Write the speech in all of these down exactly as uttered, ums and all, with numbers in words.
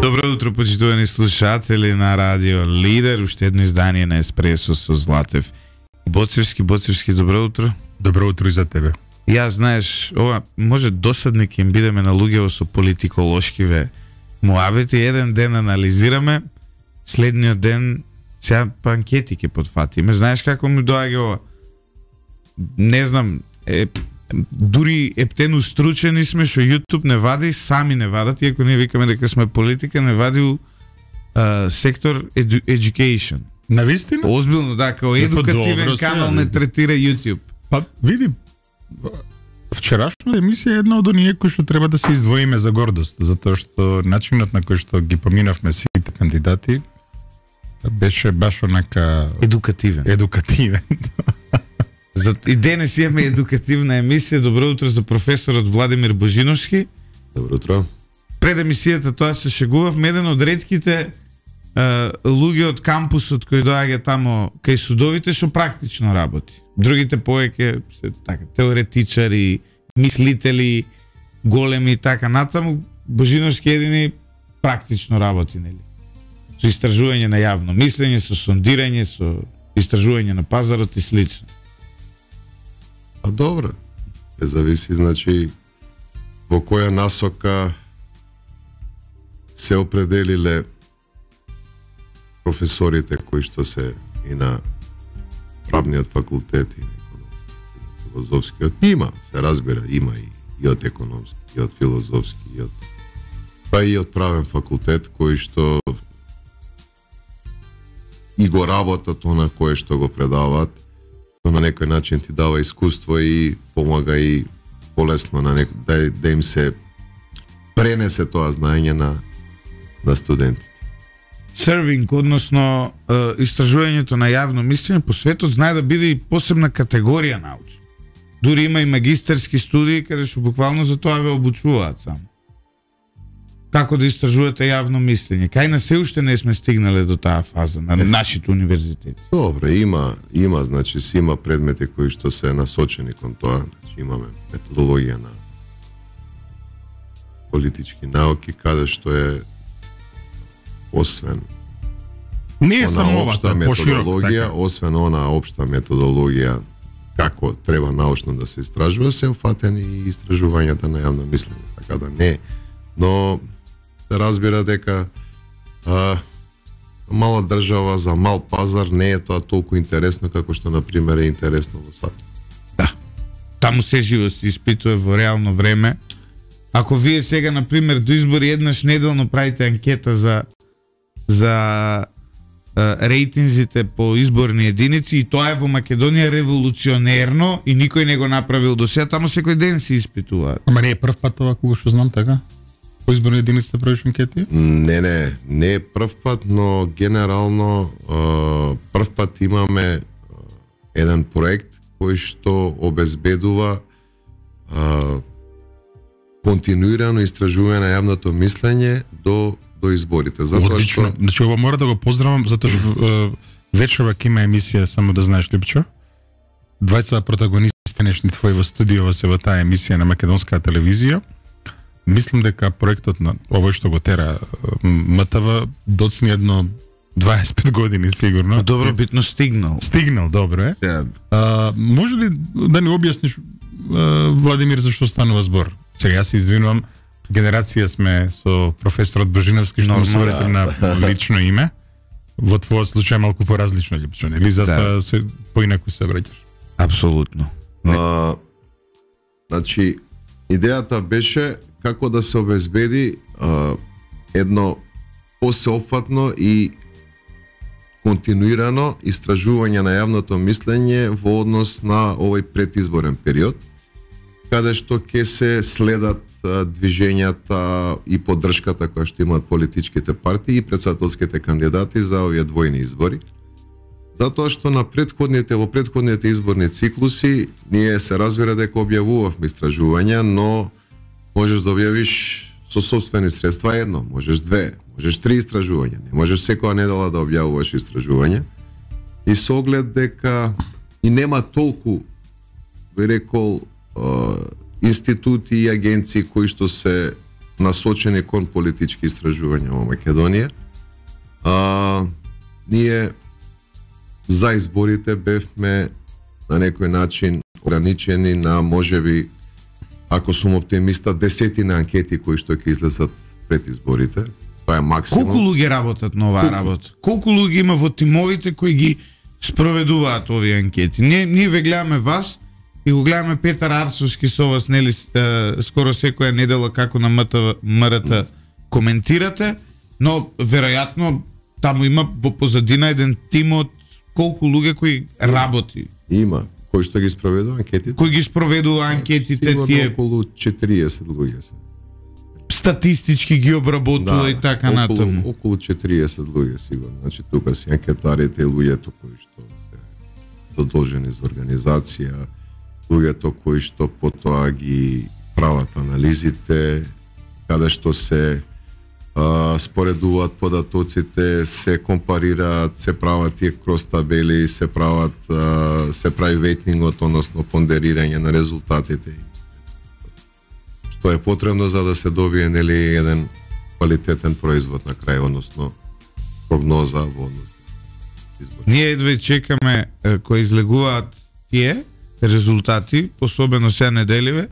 Добро утро, почитувани слушатели на Радио Лидер, уште едно издание на Еспресо со Златев и Боцевски. Боцевски, добро утро. Добро утро и за тебе. Ја, знаеш, ова може досадни ќе им бидеме на луѓево со политиколошкиве муабети. Еден ден анализираме, следниот ден сега па анкети ќе потфатиме. Знаеш како ми доаѓа ова? Не знам, е, дури ептено стручени сме што YouTube не вади, сами не вадат, иако ние викаме дека сме политика, не вади у а, сектор edu education. Навистина? Озбилно, да, као едукативен добро, канал не третира YouTube. Па, види, вчерашна емисија е една од оние кои што треба да се издвоиме за гордост, затоа што начинот на кој што ги поминавме сите кандидати беше баш онака едукативен. Едукативен. За и денес имаме едукативна емисија. Добро утро за професорот Владимир Божиновски. Добро утро. Пред емисијата тоа се шегувавме, еден од ретките Uh, луѓе од кампусот кои доаѓа тамо кај судовите што практично работи. Другите повеќе се така теоретичари, мислители, големи и така натаму. Божиновски едини практично работи, нели? Со истражување на јавно мислење, со сондирање, со истражување на пазарот и слично. А добро. Е зависи, значи, во која насока се определиле професорите кои што се и на правниот факултет и на филозофскиот. Има, се разбира, има и, и од економски, и од филозофски, и од па и од правен факултет кои што и го работат она кое што го предаваат, што на некој начин ти дава искуство и помага и полесно на некој, да, да им се пренесе тоа знаење на на студентите. Сервинг, односно е, истражувањето на јавно мислење по светот знае да биде и посебна категорија научна. Дури има и магистерски студии каде што буквално за тоа ве обучуваат само. Како да истражувате јавно мислење? Кај на се уште не сме стигнале до таа фаза на нашите универзитети. Добре, има, има, значи си има предмети кои што се насочени кон тоа. Значи имаме методологија на политички науки, каде што е освен не е само оваа методологија, така. Освен она општа методологија како треба научно да се истражува, се офатени и истражувањата на јавно мислење, така да не. Но се разбира дека а, мала држава за мал пазар не е тоа толку интересно како што на пример е интересно во САД. Да. Таму се живо се испитува во реално време. Ако вие сега на пример до избори еднаш неделно правите анкета за за а, рейтинзите по изборни единици и тоа е во Македонија револуционерно и никој не го направил до сега, таму секој ден се испитуваат. Ама не е прв пат ова, кога што знам така? По изборни единици да правиш анкети? Не, не, не е прв пат, но генерално а, прв пат имаме а, еден проект кој што обезбедува а, континуирано истражување на јавното мислење до до изборите. Затоа одлично. Што... Значи ова мора да го поздравам затоа што вечерва ќе има емисија, само да знаеш, Липчо. Двајца протагонисти нешни твои во студио се во таа емисија на македонска телевизија. Мислам дека проектот на овој што го тера МТВ доцни едно дваесет и пет години сигурно. Добро битно стигнал. Стигнал, добро е. Yeah. А, може ли да ни објасниш, Владимир, зашто станува збор? Сега јас се извинувам, генерација сме со професорот Божиновски, што му се на лично име. Во твојот случај малку поразлично, Липчо, нели? Затоа се поинаку се враќаш. Апсолутно. А, значи, идејата беше како да се обезбеди а, едно посеопфатно и континуирано истражување на јавното мислење во однос на овој предизборен период, каде што ќе се следат движењата и поддршката која што имаат политичките партии и претседателските кандидати за овие двојни избори. Затоа што на претходните во претходните изборни циклуси ние се разбира дека објавувавме истражувања, но можеш да објавиш со сопствени средства едно, можеш две, можеш три истражувања, не можеш секоја недела да објавуваш истражување. И со оглед дека и нема толку, би рекол, институти и агенции кои што се насочени кон политички истражувања во Македонија. А, ние за изборите бевме на некој начин ограничени на можеби, ако сум оптимиста, десетина анкети кои што ќе излезат пред изборите. Тоа е максимум. Колку луѓе работат на оваа работа? Колку луѓе има во тимовите кои ги спроведуваат овие анкети? Ние, ние ве гледаме вас и го гледаме Петар Арсовски со вас, нели, е, скоро секоја недела како на МРТ коментирате, но веројатно таму има во позадина еден тим од колку луѓе кои работи. Има, кој што ги спроведува анкетите. Кој ги спроведува анкетите, сигурно тие околу четириесет луѓе се. Статистички ги обработува и така околу, натаму. Околу четириесет луѓе сигурно. Значи тука се анкетарите, луѓето кои што се задолжени за организација, луѓето кои што потоа ги прават анализите, каде што се а, споредуваат податоците, се компарираат, се прават тие крос табели, се прават а, се прави ветнингот, односно пондерирање на резултатите. Што е потребно за да се добие, нели, еден квалитетен производ на крај, односно прогноза во однос на избори. Ние едва чекаме е, кои излегуваат тие резултати, особено сега неделиве,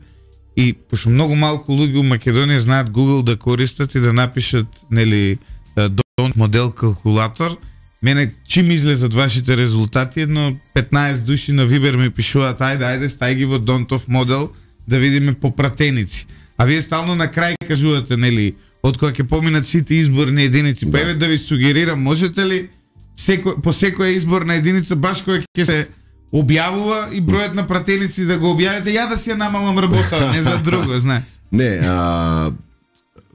и пошто многу малку луѓе у Македонија знаат Google да користат и да напишат, нели, Don't модел калкулатор. Мене чим излезат вашите резултати, едно петнаесет души на Вибер ми пишуваат: ајде, ајде, стај ги во Don't модел да видиме попратеници. А вие стално на крај кажувате, нели, од кога ќе поминат сите изборни единици. Да. Па еве да ви сугерирам, можете ли секо, по секоја изборна единица баш кога ќе се објавува и бројот на пратеници да го објавите, ја да си ја намалам работа, не за друго, знаеш. Не, а,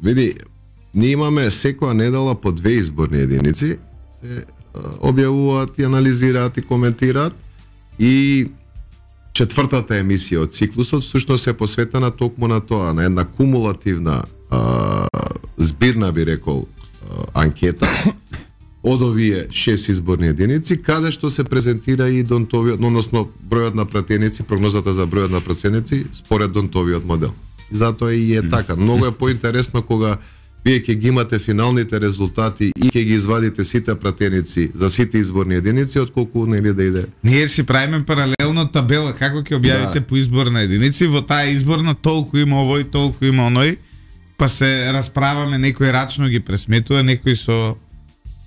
види, ние имаме секоја недела по две изборни единици, се а, објавуваат и анализираат и коментираат, и четвртата емисија од циклусот всушност се посветена токму на тоа, на една кумулативна а, збирна, би рекол, а, анкета од овие шест изборни единици, каде што се презентира и Донтовиот, односно бројот на пратеници, прогнозата за бројот на пратеници според Донтовиот модел. И затоа и е така. Многу е поинтересно кога вие ќе ги имате финалните резултати и ќе ги извадите сите пратеници за сите изборни единици, отколку нели да иде. Ние си правиме паралелно табела како ќе објавите, да, по изборна единици, во таа изборна толку има овој, толку има оној, па се расправаме, некој рачно ги пресметува, некој со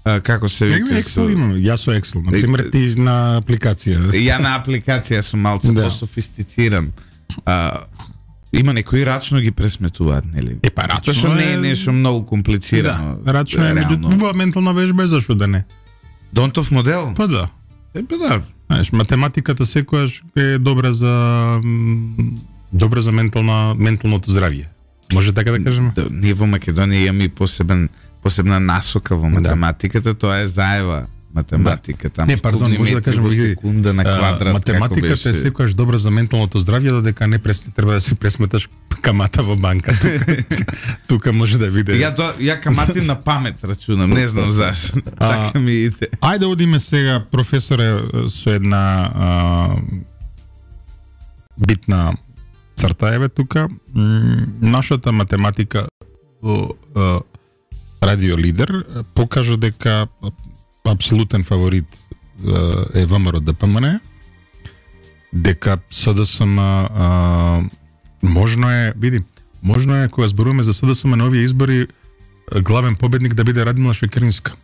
а, како се вика, Excel со... имам, јас со Excel, на пример ти на апликација. Ја на апликација сум малце да. По-софистициран. А, има некои рачно ги пресметуваат, нели? Е, па рачно што не е нешто многу комплицирано. Да, рачно е, меѓутоа ментална вежба, зашто да не? Донтов модел? Па да. Е, па да. Знаеш, математиката секојаш е добра за добра за ментална менталното здравје. Може така да кажеме? Да, ние во Македонија имаме и посебен посебна насока во математиката, да. Тоа е заева математика, таму. Не, пардон, може да кажеме, секунда на квадрат, математиката е секогаш добра за менталното здравје, додека не прес, треба да си пресметаш камата во банка. Тука, тука може да види. Ја до, ја камати на памет рачунам, не знам зашто. Така ми иде. Ајде одиме сега, професоре, со една а, битна црта еве тука. М, нашата математика во Радио Лидер покажа дека апсолутен фаворит е ВМРО Д П М Н, дека С Д С М а, можно е, види, можно е кога зборуваме за С Д С М на овие избори, главен победник да биде Радмила Шекеринска.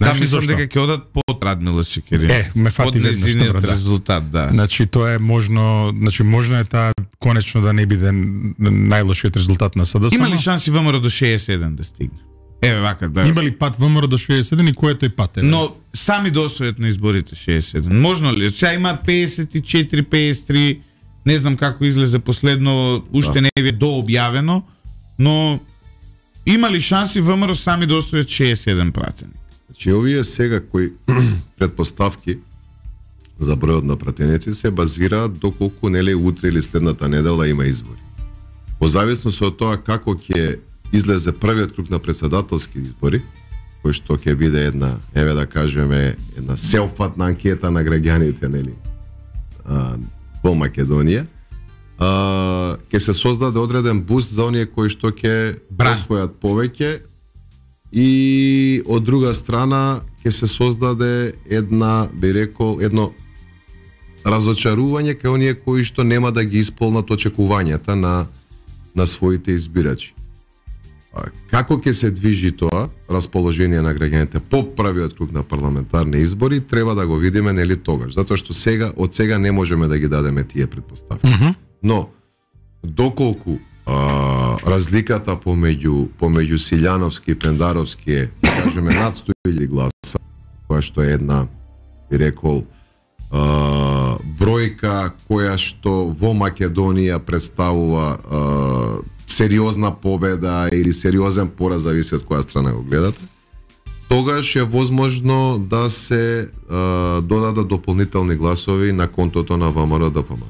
Да, мислам дека ќе одат под Радмила Шекеринска. Е, ме фати веднаш добро, да. Резултат, да. Значи тоа е можно, значи можно е таа конечно да не биде најлошиот резултат на С Д С М. Има ли шанси ВМРО до шеесет и седум да стигне? Еве вака, да. Има ли пат ВМРО до шеесет и седум и кој е тој пат? Еве? Но сами до освојат на изборите шеесет и седум. Можно ли? Сега имаат пеесет и четири, пеесет и три, не знам како излезе последно, уште не е дообјавено, но има ли шанси ВМРО сами да освојат шеесет и седум пратени? Значи, овие сега кои предпоставки за бројот на пратеници се базираат доколку нели утре или следната недела има избори. Во зависност од тоа како ќе излезе првиот круг на претседателски избори, кој што ќе биде една, еве да кажеме, една сеопфатна анкета на граѓаните, нели, а, во Македонија, а, ќе се создаде одреден буст за оние кои што ќе освојат повеќе и од друга страна ќе се создаде една, би рекол, едно разочарување кај оние кои што нема да ги исполнат очекувањата на на своите избирачи. Како ќе се движи тоа расположение на граѓаните по првиот круг на парламентарни избори, треба да го видиме нели тогаш, затоа што сега од сега не можеме да ги дадеме тие предпоставки. Mm-hmm. Но доколку а, разликата помеѓу помеѓу Силјановски и Пендаровски е, да кажеме, над сто илјади гласа, која што е една, би рекол, а, бројка која што во Македонија представува а, сериозна победа или сериозен пораз, зависи од која страна го гледате, тогаш е возможно да се а, додадат дополнителни гласови на контото на ВМРО Д П М.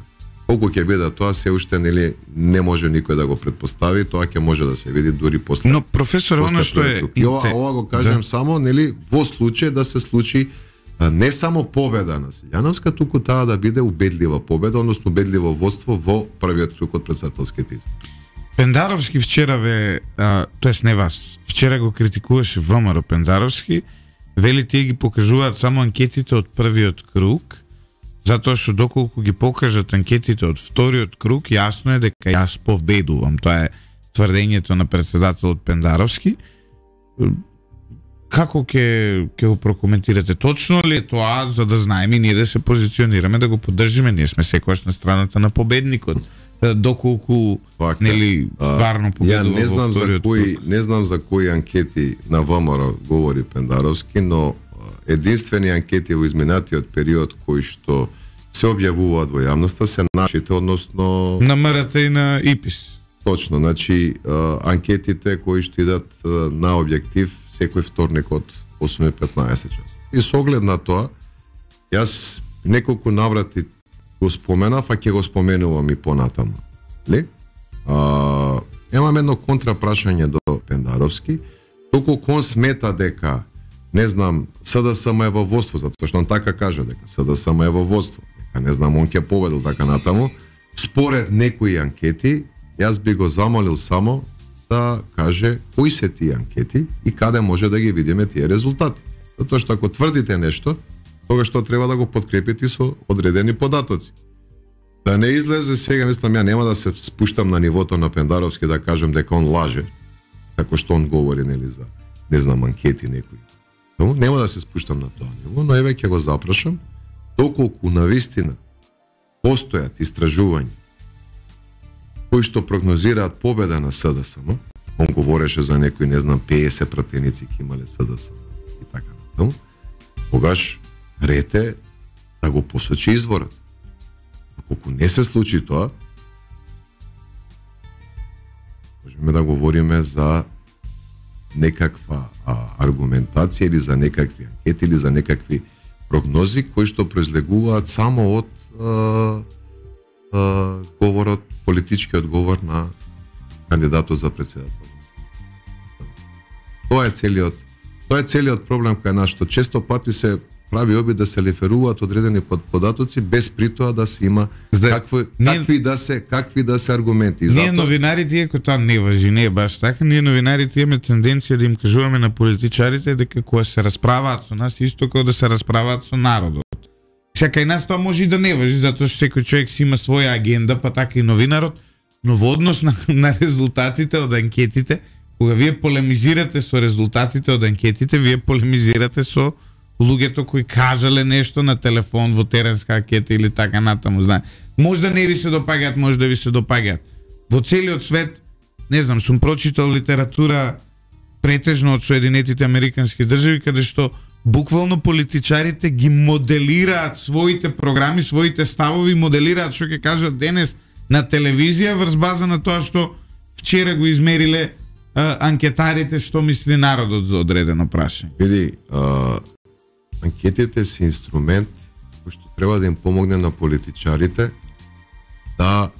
Колку ќе биде тоа, се уште нели не може никој да го предпостави, тоа ќе може да се види дури после. Но професор, она што е и ова, ова го кажем да. Само нели во случај да се случи а, не само победа на Силјановска, туку таа да биде убедлива победа, односно убедливо водство во првиот круг од претседателските избори. Пендаровски вчера ве, а, тоест не вас, вчера го критикуваше ВМРО Пендаровски, вели тие ги покажуваат само анкетите од првиот круг, затоа што доколку ги покажат анкетите од вториот круг, јасно е дека јас победувам. Тоа е тврдењето на претседателот Пендаровски. Како ќе ќе го прокоментирате? Точно ли е тоа, за да знаеме ние да се позиционираме, да го поддржиме? Ние сме секогаш на страната на победникот. Доколку Фака, нели стварно победува. Ја не знам за кои, не знам за кои анкети на ВМРО говори Пендаровски, но единствени анкети во изминатиот период кои што се објавуваат во јавноста се нашите, односно на М Р Т и на И П И С. Точно, значи анкетите кои што идат на објектив секој вторник од осум и петнаесет часот. И со оглед на тоа, јас неколку наврати го споменав, а ќе го споменувам и понатаму. Ли? А, имам едно контрапрашање до Пендаровски, доколку он смета дека не знам, С Д С М е во водство, затоа што он така кажа дека С Д С М е во водство. Дека не знам, он ќе победил така натаму. Според некои анкети, јас би го замолил само да каже кои се тие анкети и каде може да ги видиме тие резултати. Затоа што ако тврдите нешто, тогаш што треба да го подкрепите со одредени податоци. Да не излезе сега, мислам, ја нема да се спуштам на нивото на Пендаровски да кажам дека он лаже, како што он говори, нели, за, не знам, анкети некои. Но нема да се спуштам на тоа ниво, но еве ќе го запрашам, доколку навистина постојат истражувања кои што прогнозираат победа на С Д С М, он говореше за некои, не знам, петдесет пратеници ќе имале С Д С М и така натаму, тогаш рете да го посочи изворот. Ако не се случи тоа, можеме да говориме за некаква а, аргументација или за некакви анкети или за некакви прогнози кои што произлегуваат само од а, а, говорот, политичкиот говор на кандидатот за претседател. Тоа е целиот, тоа е целиот проблем кај нас, што често пати се прави обид да се реферуваат одредени податоци без при тоа да се има Зде, какви, ние, какви да се какви да се аргументи. Ние затоа... новинарите, иако тоа не важи, не е баш така, ние новинарите имаме тенденција да им кажуваме на политичарите дека кога се расправаат со нас, исто како да се расправаат со народот. Сега кај нас тоа може и да не важи, затоа што секој човек си има своја агенда, па така и новинарот, но во однос на, на резултатите од анкетите, кога вие полемизирате со резултатите од анкетите, вие полемизирате со луѓето кои кажале нешто на телефон во теренска анкета или така натаму, знае. Може да не ви се допаѓаат, може да ви се допаѓаат. Во целиот свет, не знам, сум прочитал литература претежно од Соединетите Американски држави, каде што буквално политичарите ги моделираат своите програми, своите ставови, моделираат што ќе кажат денес на телевизија врз база на тоа што вчера го измериле а, анкетарите што мисли народот за одредено прашање. Види, а... анкетите се инструмент кој што треба да им помогне на политичарите да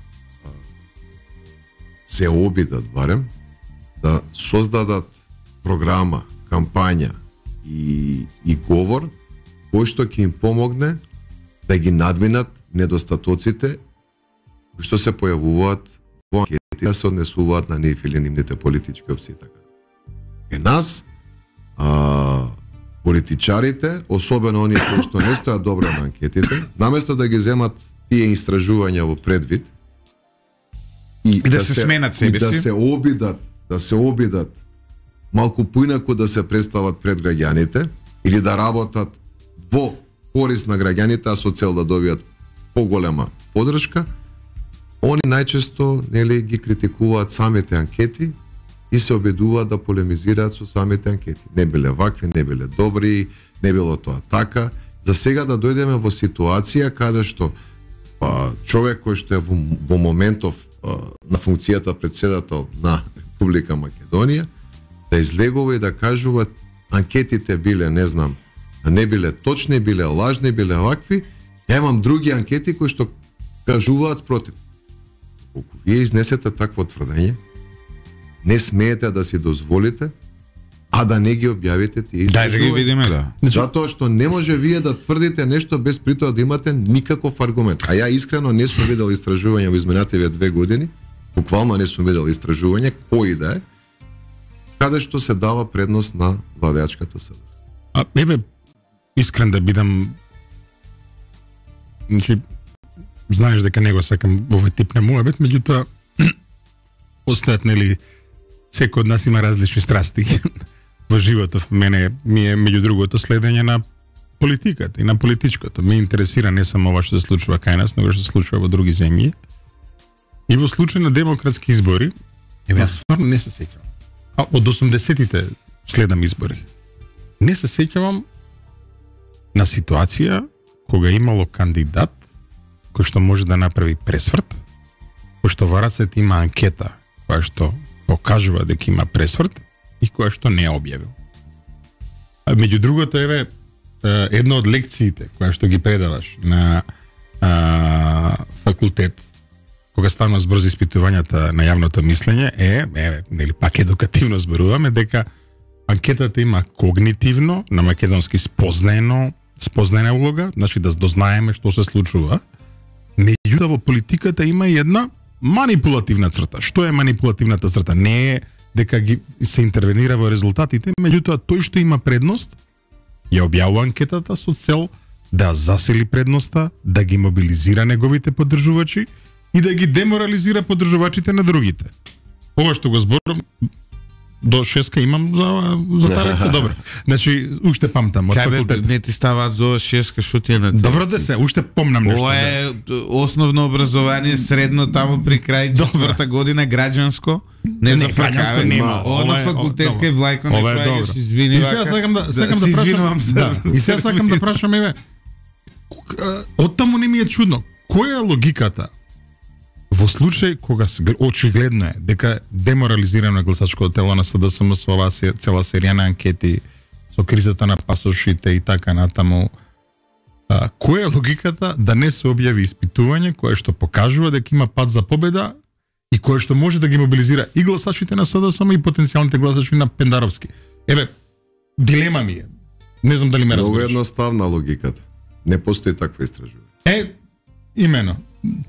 се обидат барем, да создадат програма, кампања и, и говор кој што ќе им помогне да ги надминат недостатоците што се појавуваат во анкети да се однесуваат на нив или нивните политички опции така. Е нас а, политичарите, особено оние кои што не стојат добро на анкетите, наместо да ги земат тие истражувања во предвид и, И да се сменат себе и да си. се обидат, да се обидат малку поинаку да се представат пред граѓаните или да работат во корис на граѓаните, а со цел да добијат поголема поддршка, они најчесто нели ги критикуваат самите анкети и се обидуваат да полемизираат со самите анкети. Не биле вакви, не биле добри, не било тоа така. За сега да дојдеме во ситуација каде што а, човек кој што е во, во моментов а, на функцијата председател на Република Македонија да излегува и да кажува анкетите биле, не знам, не биле точни, биле лажни, биле вакви. Ја имам други анкети кои што кажуваат спротив. Колку вие изнесете такво тврдење, не смеете да си дозволите, а да не ги објавите тие Дај да ги видиме, да. Затоа што не може вие да тврдите нешто без при тоа да имате никаков аргумент. А ја искрено не сум видел истражување во изминативе две години, буквално не сум видел истражување кој да е, каде што се дава предност на владеачката СДС. А, еве, искрен да бидам, значи, знаеш дека не го сакам овој тип на муабет, меѓутоа, постојат, нели, секој од нас има различни страсти во животот. Мене ми е, меѓу другото, следење на политиката и на политичкото. Ме интересира не само ова што се случува кај нас, но што се случува во други земји. И во случај на демократски избори, еве, јас стварно не се сеќавам. А од осумдесетите следам избори. Не се сеќавам на ситуација кога имало кандидат кој што може да направи пресврт, кој што во рацете има анкета која што покажува дека има пресврт и која што не ја објавил. А меѓу другото, еве, една од лекциите која што ги предаваш на а, факултет кога станува збор за испитувањата на јавното мислење е, еве, нели пак едукативно зборуваме дека анкетата има когнитивно, на македонски спознаено, спознаена улога, значи да дознаеме што се случува. Меѓутоа во политиката има и една манипулативна црта. Што е манипулативната црта? Не е дека ги се интервенира во резултатите, меѓутоа тој што има предност ја објавува анкетата со цел да засили предноста, да ги мобилизира неговите поддржувачи и да ги деморализира поддржувачите на другите. Ова што го зборам до шеска имам за за таа лекција, добро. Значи уште памтам од факултет. Не ти ставаат за шеска што ти е на. Добро да се, уште помнам нешто. Ова е основно образование, средно таму при крај четврта година граѓанско. Не, не за граѓанско нема. Ова на факултет кај Влајко не праќаш, извини. И сега сакам да сакам да прашам. Да. И сега сакам да прашам еве. Оттаму не ми е чудно. Која е логиката во случај кога очигледно е дека деморализирано гласачкото тело на СДСМ со оваа цела серија на анкети со кризата на пасошите и така натаму, а, која е логиката да не се објави испитување кое што покажува дека има пат за победа и кое што може да ги мобилизира и гласачите на СДСМ и потенцијалните гласачи на Пендаровски? Еве, дилема ми е. Не знам дали ме разбираш. Многу едноставна логиката. Не постои таква истражување. Е, имено.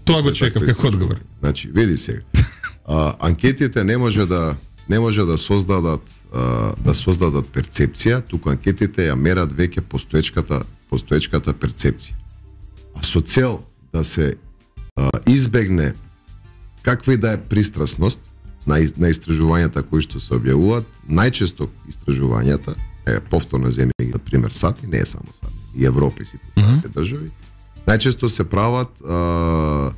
Тоа го чекав како одговор. Значи, види сега. А, анкетите не може да не може да создадат а, да создадат перцепција, туку анкетите ја мерат веќе постоечката постоечката перцепција. А со цел да се а, избегне каква и да е пристрасност на, на истражувањата кои што се објавуваат, најчесто истражувањата, е повторно земји, на пример САД, не е само САД, и Европа и сите mm-hmm. држави, најчесто се прават а,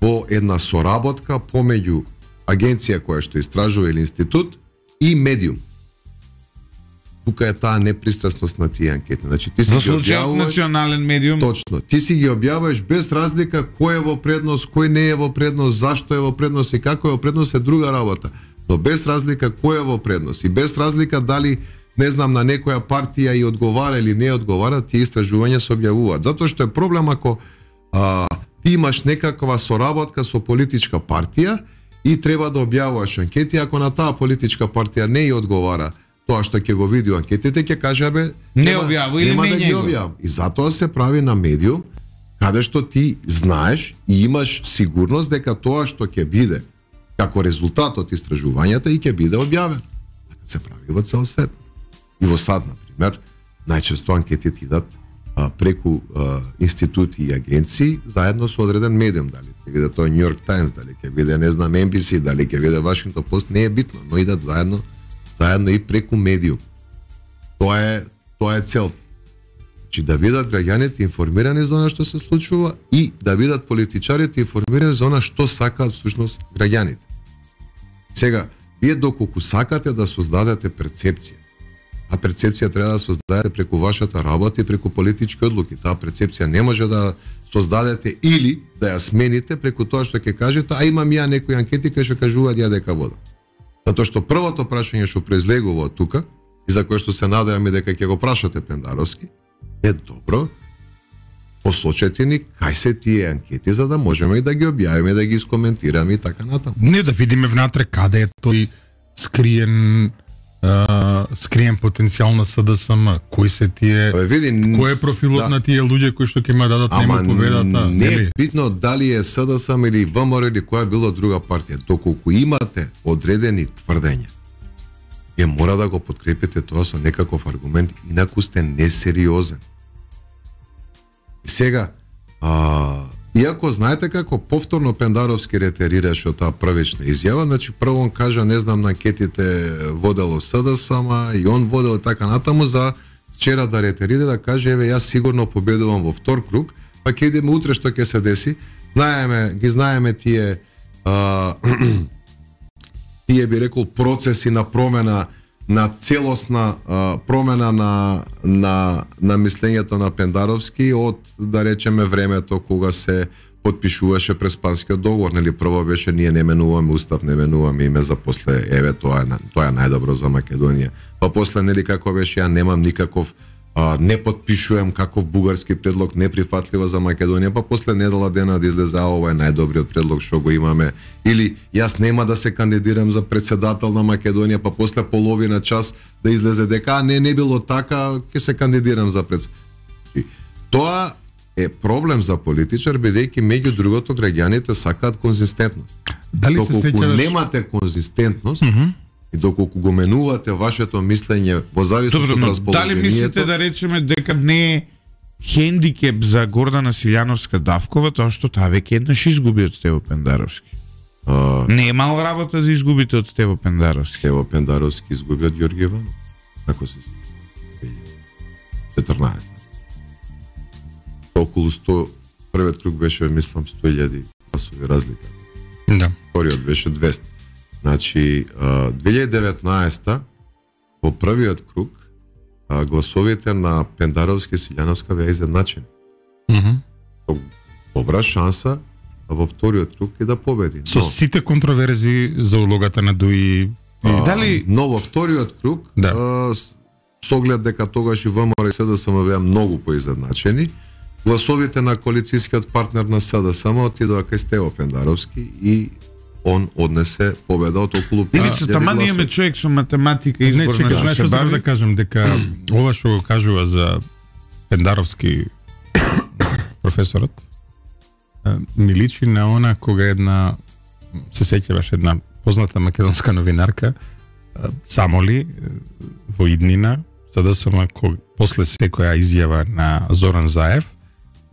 во една соработка помеѓу агенција која што истражува или институт и медиум. Тука е таа непристрасност на тие анкети. Значи ти си за ги објавуваш национален медиум. Точно. Ти си ги објавуваш без разлика кој е во предност, кој не е во предност, зашто е во предност и како е во предност е друга работа. Но без разлика кој е во предност и без разлика дали не знам на некоја партија и одговара или не одговара, тие истражувања се објавуваат. Затоа што е проблем ако а, ти имаш некаква соработка со политичка партија и треба да објавуваш анкети, ако на таа политичка партија не ја одговара тоа што ќе го види анкетите, ќе каже бе не објавува или нема не да ги објавам. И затоа се прави на медиум каде што ти знаеш и имаш сигурност дека тоа што ќе биде како резултат од истражувањата и ќе биде објавено. Така се прави во цел свет. И во САД, например, најчесто анкетите идат а, преку а, институти и агенции заедно со одреден медиум, дали ќе биде тоа New York Times, дали ќе биде, не знам, Ен Би Си, дали ќе биде Washington Post, не е битно, но идат заедно, заедно и преку медиум. Тоа е, тоа е цел. Значи да бидат граѓаните информирани за она што се случува и да бидат политичарите информирани за она што сакаат всушност граѓаните. Сега, вие доколку сакате да создадете перцепција, а перцепција треба да создадете преку вашата работа и преку политички одлуки. Таа перцепција не може да создадете или да ја смените преку тоа што ќе кажете, а имам ја некои анкети кои што кажуваат ја дека водам. Затоа што првото прашање што произлегува од тука и за кое што се надевам и дека ќе го прашате Пендаровски, е добро, посочете ни кај се тие анкети за да можеме и да ги објавиме, да ги искоментираме и така натаму. Не да видиме внатре каде е тој скриен Uh, скриен потенцијал на СДСМ, кои се тие, Абе, види, кој е профилот да. на тие луѓе кои што ќе ма дадат нему победата? Не е битно дали е СДСМ или ВМРО или која било друга партија. Доколку имате одредени тврдења, ја мора да го подкрепите тоа со некаков аргумент, инаку сте несериозен. И сега, а, иако знаете како повторно Пендаровски ретерираше од таа првична изјава, значи прво он кажа, не знам, на анкетите водело СДСМ и он водел така натаму за вчера да ретерира, да каже, еве јас сигурно победувам во втор круг, па ќе идеме утре што ќе се деси. Знаеме, ги знаеме тие а, тие би рекол процеси на промена, на целосна а, промена на, на, на мислењето на Пендаровски од, да речеме, времето кога се подпишуваше Преспанскиот договор, нели прво беше ние не менуваме устав, не менуваме име, за после еве тоа е тоа е најдобро за Македонија. Па после, нели, како беше, ја немам никаков а, не подпишувам каков бугарски предлог неприфатлива за Македонија, па после недела дена да излезе, а ова е најдобриот предлог што го имаме, или јас нема да се кандидирам за председател на Македонија, па после половина час да излезе дека не не било така, ќе се кандидирам за председател. Тоа е проблем за политичар, бидејќи меѓу другото граѓаните сакаат конзистентност. Дали се сеќаваш? Немате конзистентност, mm -hmm. и доколку го менувате вашето мислење во зависност од расположението. Дали мислите да речеме дека не е хендикеп за Гордана Силјановска Давкова тоа што таа веќе еднаш изгуби од Стево Пендаровски? А, не е мал работа за изгубите од Стево Пендаровски. Стево Пендаровски изгуби од Ѓорги Иванов. Ако се четрнаесет. Околу сто, првиот круг беше, мислам, сто илјади гласови разлика. Да. Вториот беше двесте. Значи, две илјади и деветнаесета во првиот круг гласовите на Пендаровски и Силјановска беа изедначени. Mm -hmm. Добра шанса во вториот круг и да победи. Со но, сите контроверзи за улогата на Дуи. А, Дали... Но во вториот круг, да. а, со оглед дека тогаш и ВМРО и СДСМ беа многу поизедначени, гласовите на коалицијскиот партнер на СДСМ отидоа кај Стево Пендаровски и он однесе победа од околу пет илјади гласови. Тама имаме човек со математика и избор не, на што се да кажам, дека ова што го кажува за Пендаровски професорот ми личи на она кога една, се сеќаваш, една позната македонска новинарка само ли во иднина СДСМ кога после секоја изјава на Зоран Заев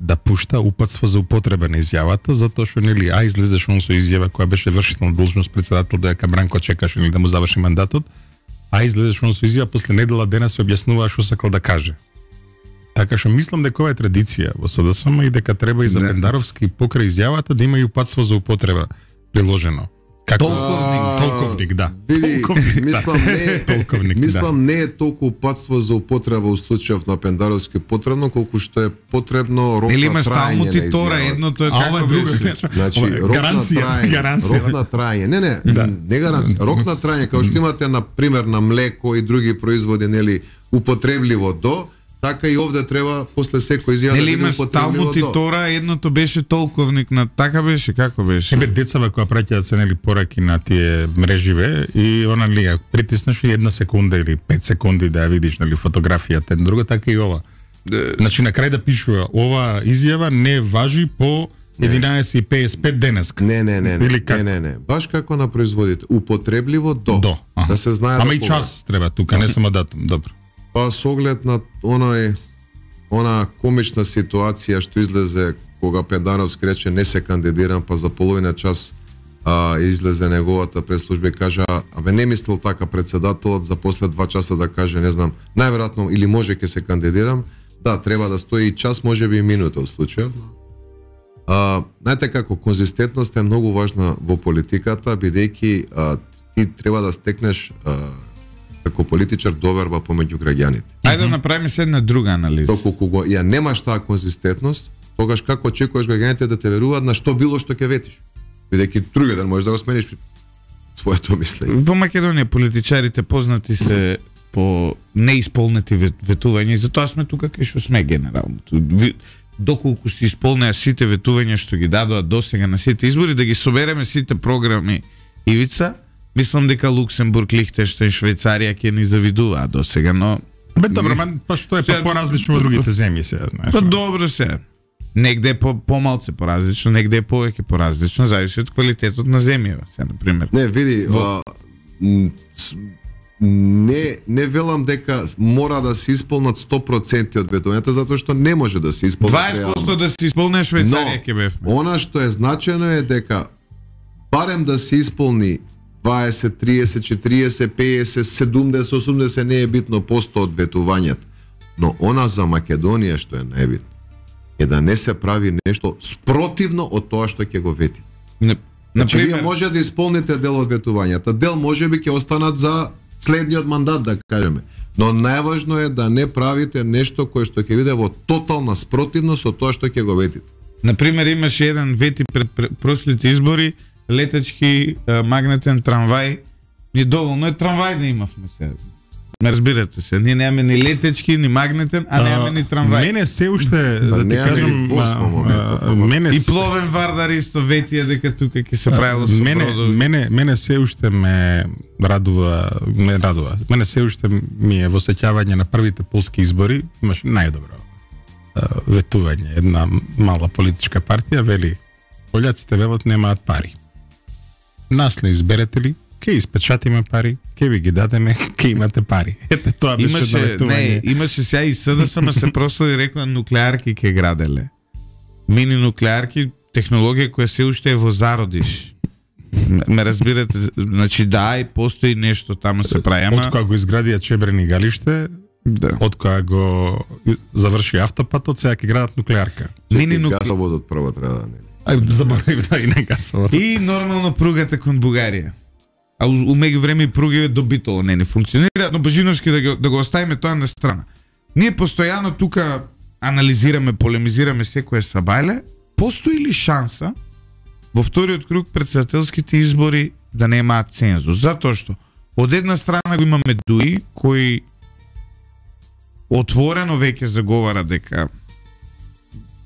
да пушта упатства за употреба на изјавата, затоа што нели а излезеш он со изјава која беше вршителна должност председател доека Бранко чекаше нели да му заврши мандатот, а излезеш он со изјава после недела дена се објаснува што сакал да каже. Така што мислам дека ова е традиција во СДСМ и дека треба и за Пендаровски покрај изјавата да има и упатство за употреба приложено. Како толковник, толковник, да. Види, толковник, мислам да. не е, толковник, мислам да. не е толку упатство за употреба во случајов на Пендаровски потребно, колку што е потребно рок на трајање. Или имаш талму ти тора, едното е како друго. Значи, рок на трајање. Рок на трајање. Не, не, да. не гаранција. Рок на трајање, како што имате на пример на млеко и други производи, нели, употребливо до, така и овде треба после секој изјава да биде употребливо до. Нели имаш талму ти тора, едното беше толковник на така беше, како беше? Ебе децава која праќаат се нели пораки на тие мреживе и она ли притиснеш и една секунда или пет секунди да ја видиш нели фотографијата, друга така и ова. Значи на крај да пишува ова изјава не важи по единаесет и петдесет и пет денеска. Не, не, не, Или не, како? не, не, не. Баш како на производите. Употребливо до. До. Аха. Да се знае. Ама да и кога. час треба тука, не само датум. Добро. Па со оглед на оној она комична ситуација што излезе кога Педаровски рече не се кандидирам, па за половина час а, излезе неговата преслужба и кажа, абе не мислел така председателот, за после два часа да каже, не знам, најверојатно или може ќе се кандидирам. Да, треба да стои и час, може би и минута во случајот. А, знаете како, конзистентност е многу важна во политиката, бидејќи а, ти треба да стекнеш а, како политичар доверба помеѓу граѓаните. Ајде да направиме се една друга анализа. Доколку го ја немаш таа конзистентност, тогаш како очекуваш граѓаните да те веруваат на што било што ќе ветиш? Бидејќи други ден можеш да го смениш своето мислење. Во Македонија политичарите познати се по неисполнети ветувања и затоа сме тука кај што сме генерално. Доколку се исполнеа сите ветувања што ги дадоа досега на сите избори, да ги собереме сите програми Ивица, мислам дека Луксембург, Лихтенштейн, Швајцарија ќе ни завидуваат досега, но Бе добро, ман па што е па поразлично во другите земји сега, знаеш. па добро се. Негде е по помалце поразлично, негде е повеќе поразлично, зависи од квалитетот на земјава, се на пример. Не, види, Во- а, м, с- не не велам дека мора да се исполнат сто проценти од ветувањата, затоа што не може да се исполнат. дваесет проценти да се исполне Швајцарија ќе бевме. Она што е значено е дека барем да се исполни дваесет, триесет, четириесет, петдесет, седумдесет, осумдесет, не е битно посто од ветувањата. Но она за Македонија што е најбитно е да не се прави нешто спротивно од тоа што ќе го вети. На, Значи, вие например, може да исполните дел од ветувањата, дел може би ќе останат за следниот мандат, да кажеме. Но најважно е да не правите нешто кое што ќе биде во тотална спротивност од тоа што ќе го ветите. например имаше еден вети пред пред прошлите избори, летачки а, магнетен трамвај. Ни доволно е трамвај да имавме сега. Ме разбирате се, ние немаме ни летечки, ни магнетен, а немаме ни трамвај. Мене се уште да ти немаме кажам, ни воз во а, моментот, а, мене И пловен вардар исто ветија дека тука ќе се правило со мене, бродови. мене, мене се уште ме радува, ме радува. Мене се уште ми е во сеќавање на првите полски избори, имаш најдобро а, ветување. Една мала политичка партија вели, пољаците велат немаат пари. Нас не изберете ли, ке испечатиме пари, ке ви ги дадеме, ке имате пари. Ете тоа беше Имаше, не, ветување. имаше сега и СДСМ ма се прослави рекоа нуклеарки ке граделе. Мини нуклеарки, технологија која се уште е во зародиш. М- Ме разбирате, значи да, и постои нешто таму се прави, ама Од кога го изградија Чебрени галиште, да. од кога го заврши автопатот, сега ќе градат нуклеарка. Мини нук... Газоводот прво треба да не. Ај, заборавив да и не гасовот. И нормално пругата кон Бугарија. А у, у меѓувреме и пруги до Битола не не функционираат, но Божиновски да го, да го оставиме тоа на страна. Ние постојано тука анализираме, полемизираме секое сабајле. Постои ли шанса во вториот круг председателските избори да немаат цензус? Затоа што од една страна го имаме Дуи, кој отворено веќе заговара дека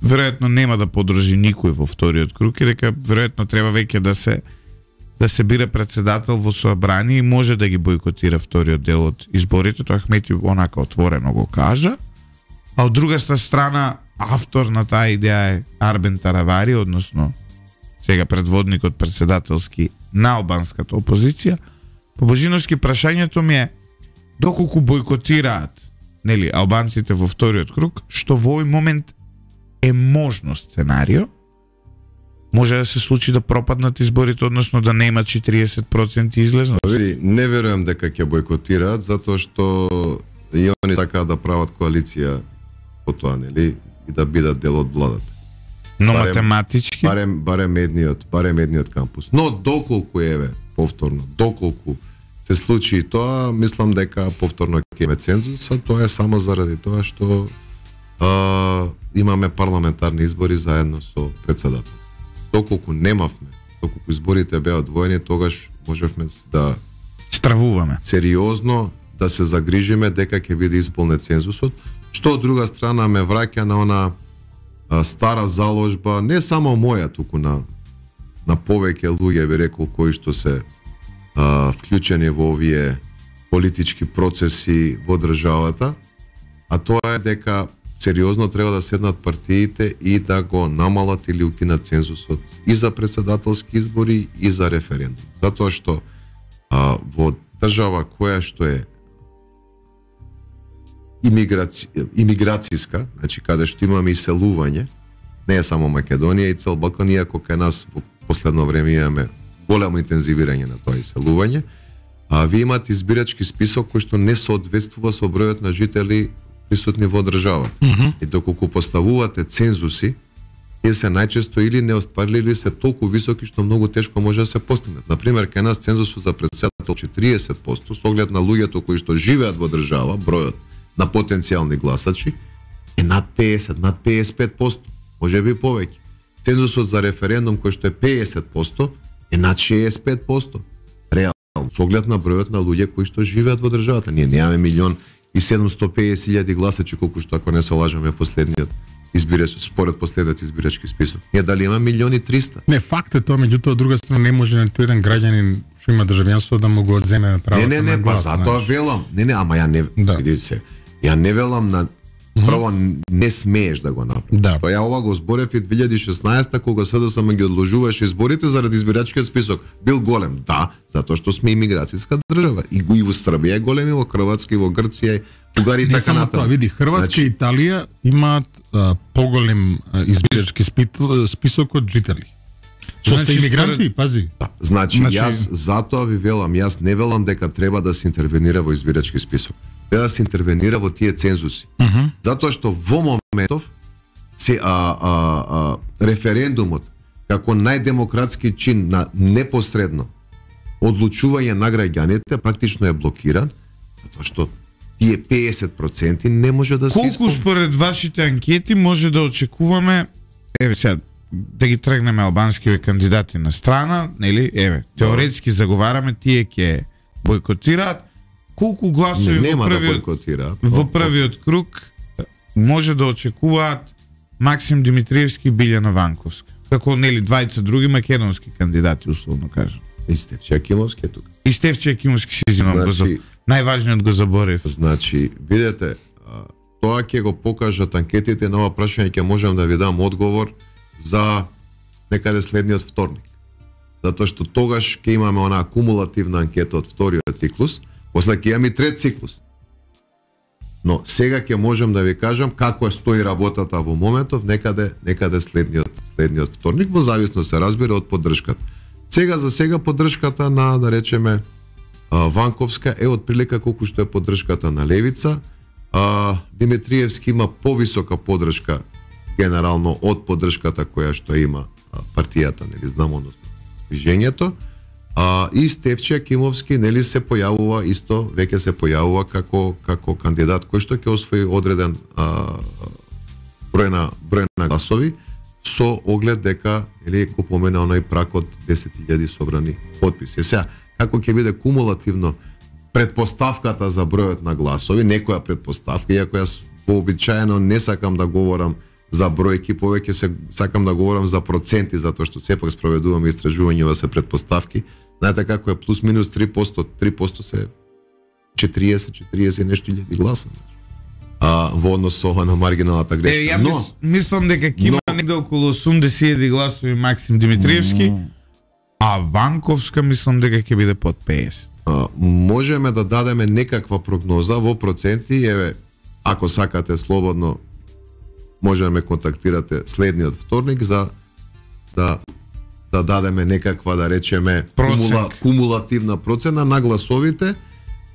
веројатно нема да подржи никој во вториот круг и дека веројатно треба веќе да се да се бира председател во собрание и може да ги бойкотира вториот дел од изборите, тоа Ахмети онака отворено го кажа. А од другата страна автор на таа идеја е Арбен Таравари, односно сега предводникот председателски на албанската опозиција. По Божиновски прашањето ми е доколку бойкотираат, нели, албанците во вториот круг, што во овој момент е можно сценарио, може да се случи да пропаднат изборите, односно да нема четириесет проценти излезност. Види, не верувам дека ќе бойкотираат, затоа што и они сакаат да прават коалиција по тоа, нели, и да бидат дел од владата. Но барем- математички, Барем барем едниот, барем едниот кампус. Но доколку еве, повторно, доколку се случи и тоа, мислам дека повторно ќе имаме цензус, а тоа е само заради тоа што а, имаме парламентарни избори заедно со председателство. Доколку немавме, доколку изборите беа одвоени, тогаш можевме да стравуваме. сериозно да се загрижиме дека ќе биде исполнет цензусот, што од друга страна ме враќа на она а, стара заложба, не само моја, туку на на повеќе луѓе, би рекол, кои што се а, вклучени во овие политички процеси во државата, а тоа е дека сериозно треба да седнат партиите и да го намалат или укинат цензусот и за председателски избори и за референдум. Затоа што а, во држава која што е имиграци... имиграцијска, значи каде што имаме иселување, не е само Македонија и цел Балкан, иако кај нас во последно време имаме големо интензивирање на тоа иселување, а ви имате избирачки список кој што не соодветствува со бројот на жители присутни во држава. Mm -hmm. И доколку поставувате цензуси, тие се најчесто или не остварили или се толку високи што многу тешко може да се постигнат. Например, кај нас цензусот за председател четириесет проценти со оглед на луѓето кои што живеат во држава, бројот на потенцијални гласачи е над педесет, над педесет и пет проценти, може би повеќе. Цензусот за референдум кој што е педесет проценти е над шеесет и пет проценти. Реално, со оглед на бројот на луѓе кои што живеат во државата. Ние немаме милион и седумстотини и педесет илјади гласачи, колку што ако не се лажаме последниот избирач, според последниот избирачки список. Ние дали има милион и триста? Не, факт е тоа, меѓутоа од друга страна не може ниту еден граѓанин што има државјанство да му го одземе правото не, не, не, на глас. Не, не, не, па затоа велам. Не, не, ама ја не, да. видите се. Ја не велам на прво не смееш да го направиш. Да. Тоа ја ова го зборев и две илјади и шеснаесета кога СДСМ ги одложуваше изборите заради избирачкиот список. Бил голем, да, затоа што сме имиграцијска држава. И го и во Србија е голем, и во Хрватска, и во Грција, и Бугарија и така натаму. Тоа, види, Хрватска значи... и Италија имаат а, поголем а, избирачки список од жители. Со значи, се имигранти, според... пази. Да, значи, значи, јас затоа ви велам, јас не велам дека треба да се интервенира во избирачки список. Треба да се интервенира во тие цензуси. Uh -huh. Затоа што во моментов се, а, а, а, референдумот како најдемократски чин на непосредно одлучување на граѓаните практично е блокиран, затоа што тие педесет проценти не може да се Колку исполни. според вашите анкети може да очекуваме, еве сега, да ги тргнеме албанскиве кандидати на страна, нели? Еве, теоретски заговараме, тие ќе бойкотираат. Колку гласови не, во првиот, да во првиот круг може да очекуваат Максим Димитриевски и Билјана Ванковска? Како, нели, двајца други македонски кандидати, условно кажам. И Стефче Акимовски е тука. И Стефче Акимовски се извинувам, значи, најважниот го заборев. Значи, видете, тоа ќе го покажат анкетите, на ова прашање ќе можам да ви дам одговор за некаде следниот вторник. Затоа што тогаш ќе имаме онаа кумулативна анкета од вториот циклус, после ќе имаме трет циклус. Но сега ќе можам да ви кажам како стои работата во моментов, некаде некаде следниот следниот вторник, во зависност се разбира од поддршката. Сега за сега поддршката на, да речеме, Ванковска е од прилика колку што е поддршката на Левица. А, Димитриевски има повисока поддршка генерално од поддршката која што има партијата, нели знам, односно движењето. А, и Стефче Акимовски, нели, се појавува исто, веќе се појавува како како кандидат кој што ќе освои одреден а, број на број на гласови со оглед дека, нели, го помена оној прак од десет илјади собрани потписи. Сега, како ќе биде кумулативно предпоставката за бројот на гласови, некоја предпоставка, иако јас вообичаено не сакам да говорам за бројки, повеќе се сакам да говорам за проценти, затоа што сепак спроведуваме истражувања, ова се предпоставки. Знаете како е плюс минус три проценти, три проценти се четириесет, четириесет нешто илјади гласа. А, во однос со ова на маргиналната грешка. Е, ја но, мис, мислам дека ќе има но... негде околу осумдесет илјади гласови Максим Димитриевски, mm. а Ванковска мислам дека ќе биде под педесет. А, можеме да дадеме некаква прогноза во проценти, еве, ако сакате слободно може да ме контактирате следниот вторник за да да дадеме некаква, да речеме, кумула, кумулативна процена на гласовите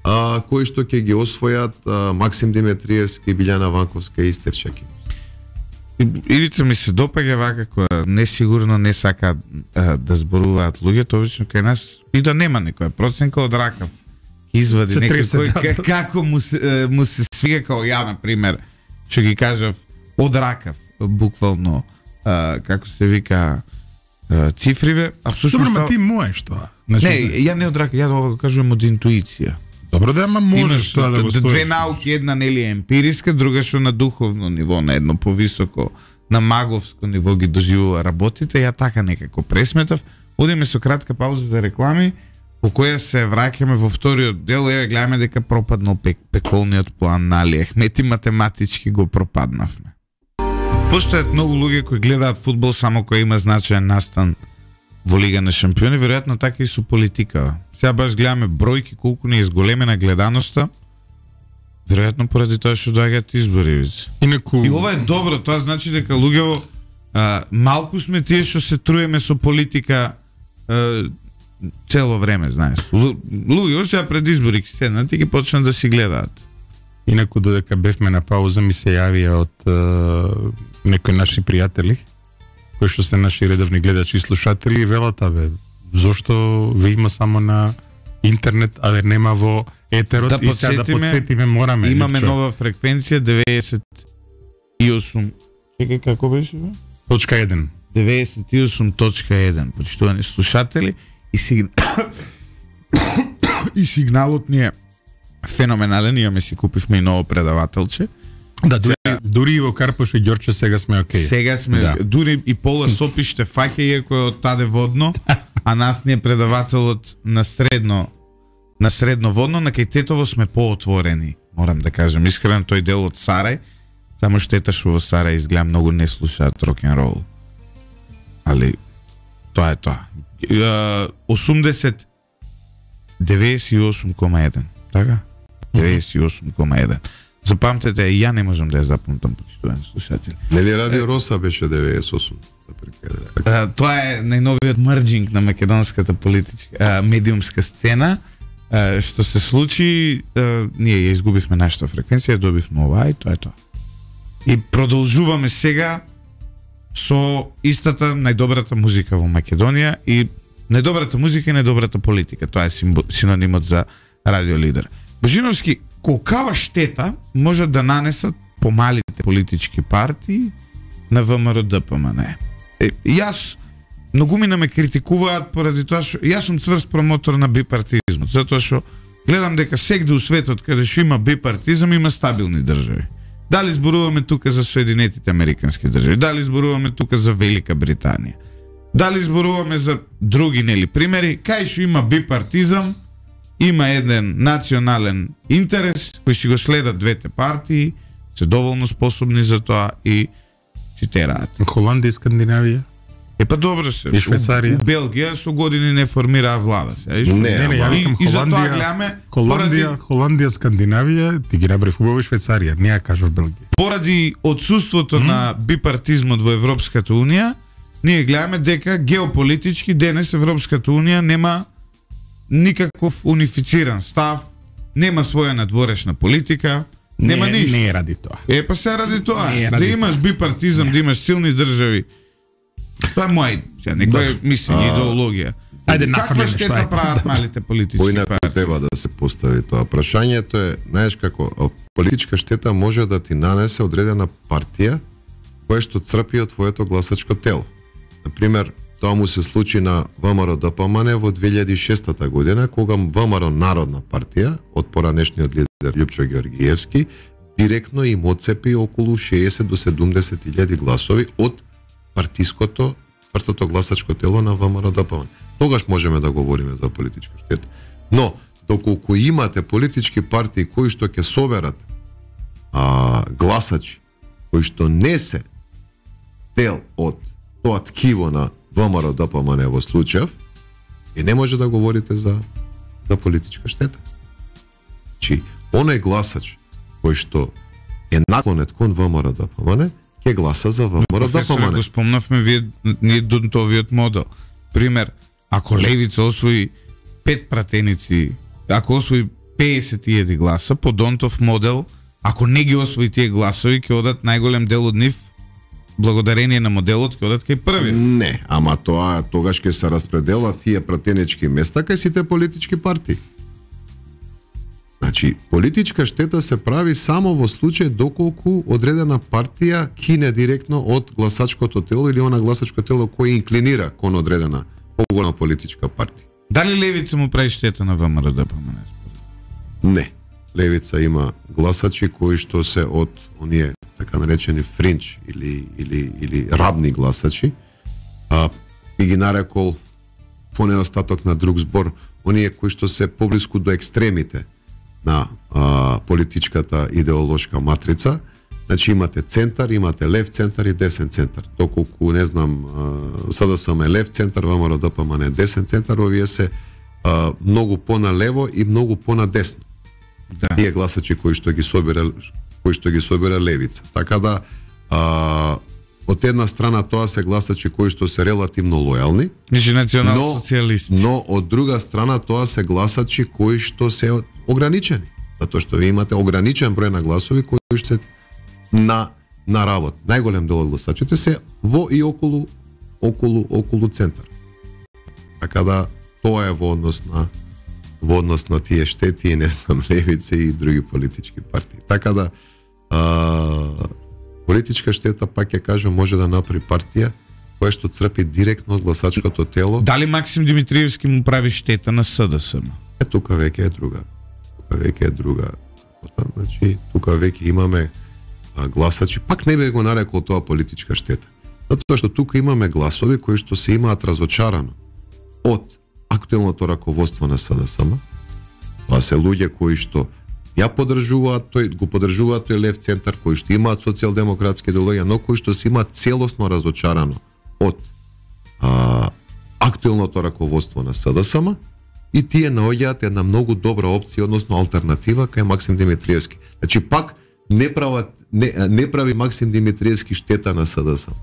а, кои што ќе ги освојат а, Максим Димитриевски, Билјана Ванковска и Стефче Акимовски. Илица ми се допаѓа вака која несигурно не сака а, да зборуваат луѓето, обично кај нас и да нема некоја проценка од ракав извади некој кој како му се, му се свига, као ја, например, што ги кажав од ракав, буквално, а, како се вика, а, цифриве, а всушност... Добро, ма ти можеш тоа. Значи, не, ја не од ракав, ја да го кажувам од интуиција. Добро, да, ма можеш тоа да го стоиш. Две науки, една нели е емпириска, друга што на духовно ниво, на едно повисоко, на маговско ниво ги доживува работите, ја така некако пресметав. Одиме со кратка пауза за реклами, по која се враќаме во вториот дел, еве гледаме дека пропаднал пек, пеколниот план на Али Ахмет и математички го пропаднавме. Постојат многу луѓе кои гледаат фудбал само кој има значаен настан во Лига на шампиони, веројатно така и со политика. Сега баш гледаме бројки колку ни е зголемена гледаноста, веројатно поради тоа што доаѓаат избори. Инаку... И ова е добро, тоа значи дека луѓе малку сме тие што се труеме со политика а, цело време, знаеш. Луѓе сега пред избори ќе седнат и ќе почнат да си гледаат. Инаку додека бевме на пауза ми се јавија од uh, некои наши пријатели кои што се наши редовни гледачи и слушатели и велат, абе, зошто ве има само на интернет, а нема во етерот, да и сега да подсетиме, мораме. Имаме Липчо. нова фреквенција деветдесет и осум. Чекај, како беше бе? Точка еден. деветдесет и осум точка еден. Почитувани слушатели и сигнал... и сигналот ни е феноменален, имаме си купивме и ново предавателче. Да, дури, сега, дури и во Карпош и Ѓорче сега сме окей. Сега сме, да. Дури и Пола Сопи ще фаќа иако е од таде водно, а нас ни е предавателот на средно на средно водно, на кај Тетово сме поотворени, морам да кажам. Искрено тој дел од Сарај, само штета што во Сарај изгледа многу не слушаат рок-н-рол. Али тоа е тоа. осумдесет деветдесет и осум кома еден, така? деветдесет и осум кома еден. Запамтете, ја не можам да ја запамтам, почитувани слушатели. Нели Радио Роса беше деветдесет и осум? А, тоа е најновиот мрџинг на македонската политичка а, медиумска сцена. А, што се случи, а, ние ја изгубивме нашата фреквенција, добивме ова и тоа е тоа. И продолжуваме сега со истата најдобрата музика во Македонија и најдобрата музика и најдобрата политика. Тоа е синонимот за Радио Лидер. Божиновски, колкава штета можат да нанесат помалите политички партии на ВМРО Д П М Н? Е, јас многу ми ме критикуваат поради тоа што јас сум цврст промотор на бипартизмот, затоа што гледам дека сегде у светот каде што има бипартизам има стабилни држави. Дали зборуваме тука за Соединетите Американски држави, дали зборуваме тука за Велика Британија, дали зборуваме за други нели примери, кај што има бипартизам, има еден национален интерес кој си го следат двете партии, се доволно способни за тоа и цитираат. Холандија и Скандинавија? Е па добро се. И Швейцарија? У Белгија со години не формираа влада. Се, не, не, не, ја викам и, и за тоа Холандија, гледаме Холандија, поради, Холандија, Скандинавија, ти ги набрав убаво и Швейцарија, не ја кажав Белгија. Поради отсуството mm. на бипартизмот во Европската унија, ние гледаме дека геополитички денес Европската унија нема никаков унифициран став, нема своја надворешна политика, нема не, ништо. Не е ради тоа. Е, па се ради тоа. Не Да имаш бипартизам, не. Да имаш силни држави. Тоа е мој, сега, некој мислење, идеологија. Ајде, каква штета прават малите политички Поинаку партии? треба да се постави тоа. Прашањето е, знаеш како, политичка штета може да ти нанесе одредена партија која што црпи од твоето гласачко тело. Например, тоа му се случи на ВМРО Д П М Н во две илјади и шеста година, кога ВМРО Народна партија од поранешниот лидер Љупчо Ѓоргиевски директно им отцепи околу шеесет до седумдесет илјади гласови од партиското твртото гласачко тело на ВМРО Д П М Н. Тогаш можеме да говориме за политичка штета. Но доколку имате политички партии кои што ќе соберат а, гласачи кои што не се дел од тоа ткиво на ВМРО Д П М Н во случајов, и не може да говорите за за политичка штета. Чи оној гласач кој што е наклонет кон ВМРО Д П М Н ќе гласа за ВМРО Д П М Н. Го спомнавме вие ние донтовиот модел. Пример, ако левица освои пет пратеници, ако освои песет илјади гласа по Донтов модел, ако не ги освои тие гласови, ќе одат најголем дел од нив благодарение на моделот ќе одат кај први. Не, ама тоа тогаш ќе се распределат тие пратенички места кај сите политички партии. Значи, политичка штета се прави само во случај доколку одредена партија кине директно од гласачкото тело или она гласачко тело кој инклинира кон одредена поголема политичка партија. Дали левица му прави штета на ВМРО Д П М Н? Не. Левица има гласачи кои што се од оние така наречени фринч или или или рабни гласачи. А и ги нарекол во недостаток на друг збор оние кои што се поблиску до екстремите на а, политичката идеолошка матрица. Значи имате центар, имате лев центар и десен центар. Доколку не знам, СДСМ е лев центар, ВМРО ДПМН е десен центар, овие се а, многу поналево и многу понадесно. Да. Тие гласачи кои што ги собира кои што ги собира левица. Така да а, од една страна тоа се гласачи кои што се релативно лојални, значи национал-социјалисти. Но, но од друга страна тоа се гласачи кои што се ограничени, затоа што ви имате ограничен број на гласови кои што се на на работ. Најголем дел од гласачите се во и околу околу околу центар. Така да тоа е во однос на во однос на тие штети и не знам левице и други политички партии. Така да а, политичка штета, пак ќе кажам, може да направи партија која што црпи директно од гласачкото тело. Дали Максим Димитриевски му прави штета на СДСМ? Е, тука веќе е друга. Тука веќе е друга. Значи, тука веќе имаме а, гласачи, пак не би го нарекол тоа политичка штета. Затоа што тука имаме гласови кои што се имаат разочарано од актуелното раководство на СДСМ. Тоа се луѓе кои што ја поддржуваат тој, го поддржуваат тој лев центар, кои што имаат социјалдемократски идеологија, но кои што се имаат целосно разочарано од а, актуелното раководство на СДСМ и тие наоѓаат една многу добра опција, односно алтернатива кај Максим Димитриевски. Значи пак не прават не, не прави Максим Димитриевски штета на СДСМ.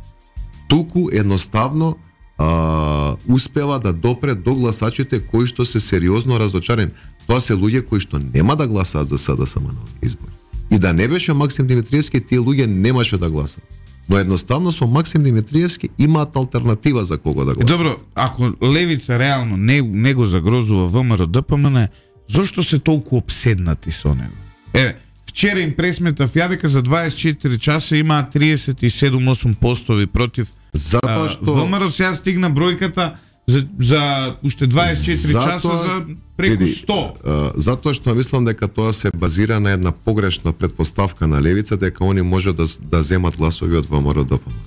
Туку едноставно а, успева да допре до гласачите кои што се сериозно разочарени. Тоа се луѓе кои што нема да гласаат за СДСМ на избори. И да не беше Максим Димитриевски, тие луѓе немаше да гласаат. Но едноставно со Максим Димитриевски имаат алтернатива за кого да гласаат. Добро, ако левица реално не, не го загрозува ВМРО ДПМН, зошто се толку обседнати со него? Е, вчера им пресметав ја дека за дваесет и четири часа имаат триесет и седум осум постови против Затоа што ВМРО сега стигна бројката за за уште дваесет и четири затоа, часа за преку види, сто. А, затоа што мислам дека тоа се базира на една погрешна предпоставка на левица дека они може да да земат гласови од ВМРО ДПМН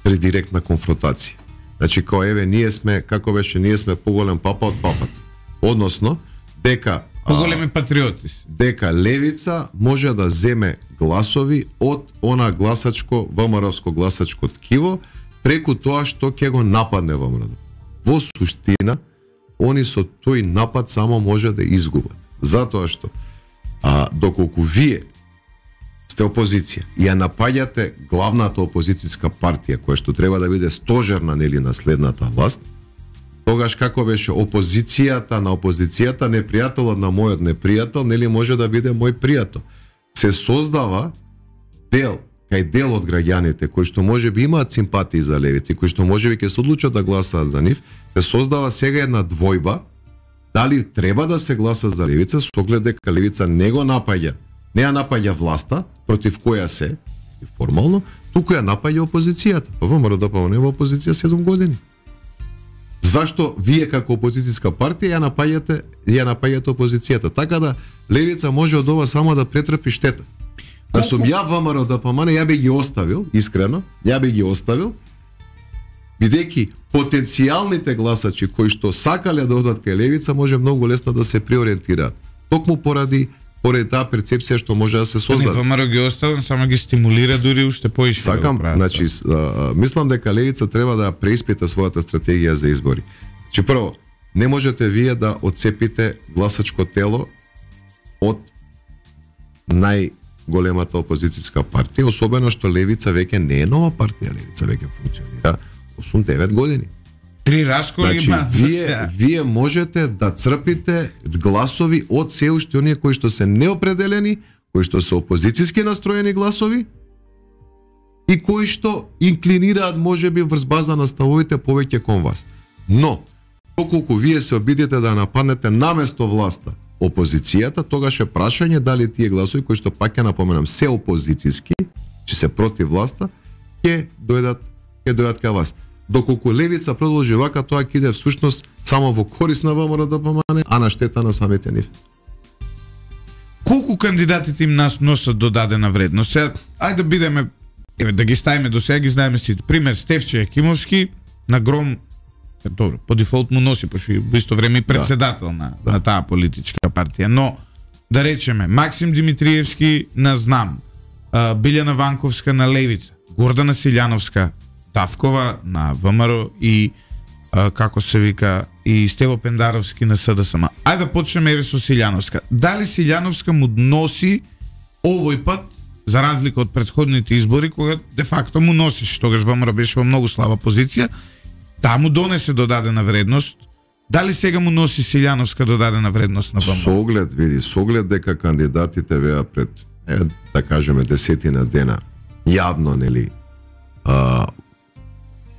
при директна конфронтација. Значи као еве ние сме, како беше, ние сме поголем папа од папата. Односно дека поголеми патриоти. Дека левица може да земе гласови од она гласачко ВМРО-ско гласачко ткиво преку тоа што ќе го нападне ВМРО. Во суштина, они со тој напад само може да изгубат. Затоа што а, доколку вие сте опозиција и ја напаѓате главната опозицијска партија која што треба да биде стожерна нели на следната власт, тогаш како беше опозицијата на опозицијата, непријателот на мојот непријател, нели може да биде мој пријател. Се создава дел, кај дел од граѓаните кои што можеби имаат симпатии за левици, кои што можеби ќе се одлучат да гласаат за нив, се создава сега една двојба дали треба да се гласа за левица, со оглед дека левица не го напаѓа, не ја напаѓа власта против која се формално, туку ја напаѓа опозицијата. ВМРО ДПМН е во опозиција седум години. Зашто вие како опозицијска партија ја напаѓате, ја напаѓате опозицијата? Така да левица може од ова само да претрпи штета. Да сум ја ВМРО ДПМН, ја би ги оставил, искрено, ја би ги оставил, бидејќи потенцијалните гласачи кои што сакале да одат кај левица може многу лесно да се преориентираат. Токму поради поради таа перцепција што може да се создаде. ВМРО ги оставам, само ги стимулира дури уште поише. Сакам, да значи, а, мислам дека левица треба да преиспита својата стратегија за избори. Че прво, не можете вие да отцепите гласачко тело од најголемата опозицијска партија, особено што левица веќе не е нова партија, левица веќе функционира осум-девет години. Три расколи значи, има. Вие, вие можете да црпите гласови од се уште оние кои што се неопределени, кои што се опозицијски настроени гласови и кои што инклинираат можеби врз база на ставовите повеќе кон вас. Но, доколку вие се обидите да нападнете наместо власта опозицијата, тогаш е прашање дали тие гласови кои што пак ќе напоменам се опозицијски, че се против власта, ќе дојдат ќе дојдат кај вас. Доколку левица продолжи вака, тоа ќе иде всушност само во корис на ВМРО ДПМН, а на штета на самите нив. Колку кандидатите им нас носат додадена вредност? Сега, ајде да бидеме, еве, да ги ставиме до сега, ги знаеме сите. Пример, Стефче Јакимовски, на гром Добро, по дефолт му носи, пошто во исто време и председател да. на, да. на таа политичка партија. Но, да речеме, Максим Димитриевски на Знам, Билјана Ванковска на Левица, Гордана Силјановска, Давкова на ВМРО и како се вика и Стево Пендаровски на СДСМ. Ајде да почнеме еве со Силјановска. Дали Силјановска му носи овој пат, за разлика од претходните избори, кога де факто му носиш, тогаш ВМРО беше во многу слаба позиција, таа му донесе додадена вредност. Дали сега му носи Силјановска додадена вредност на ВМРО? Со оглед, види, со оглед дека кандидатите веа пред, е, да кажеме, десетина дена, јавно, нели, а,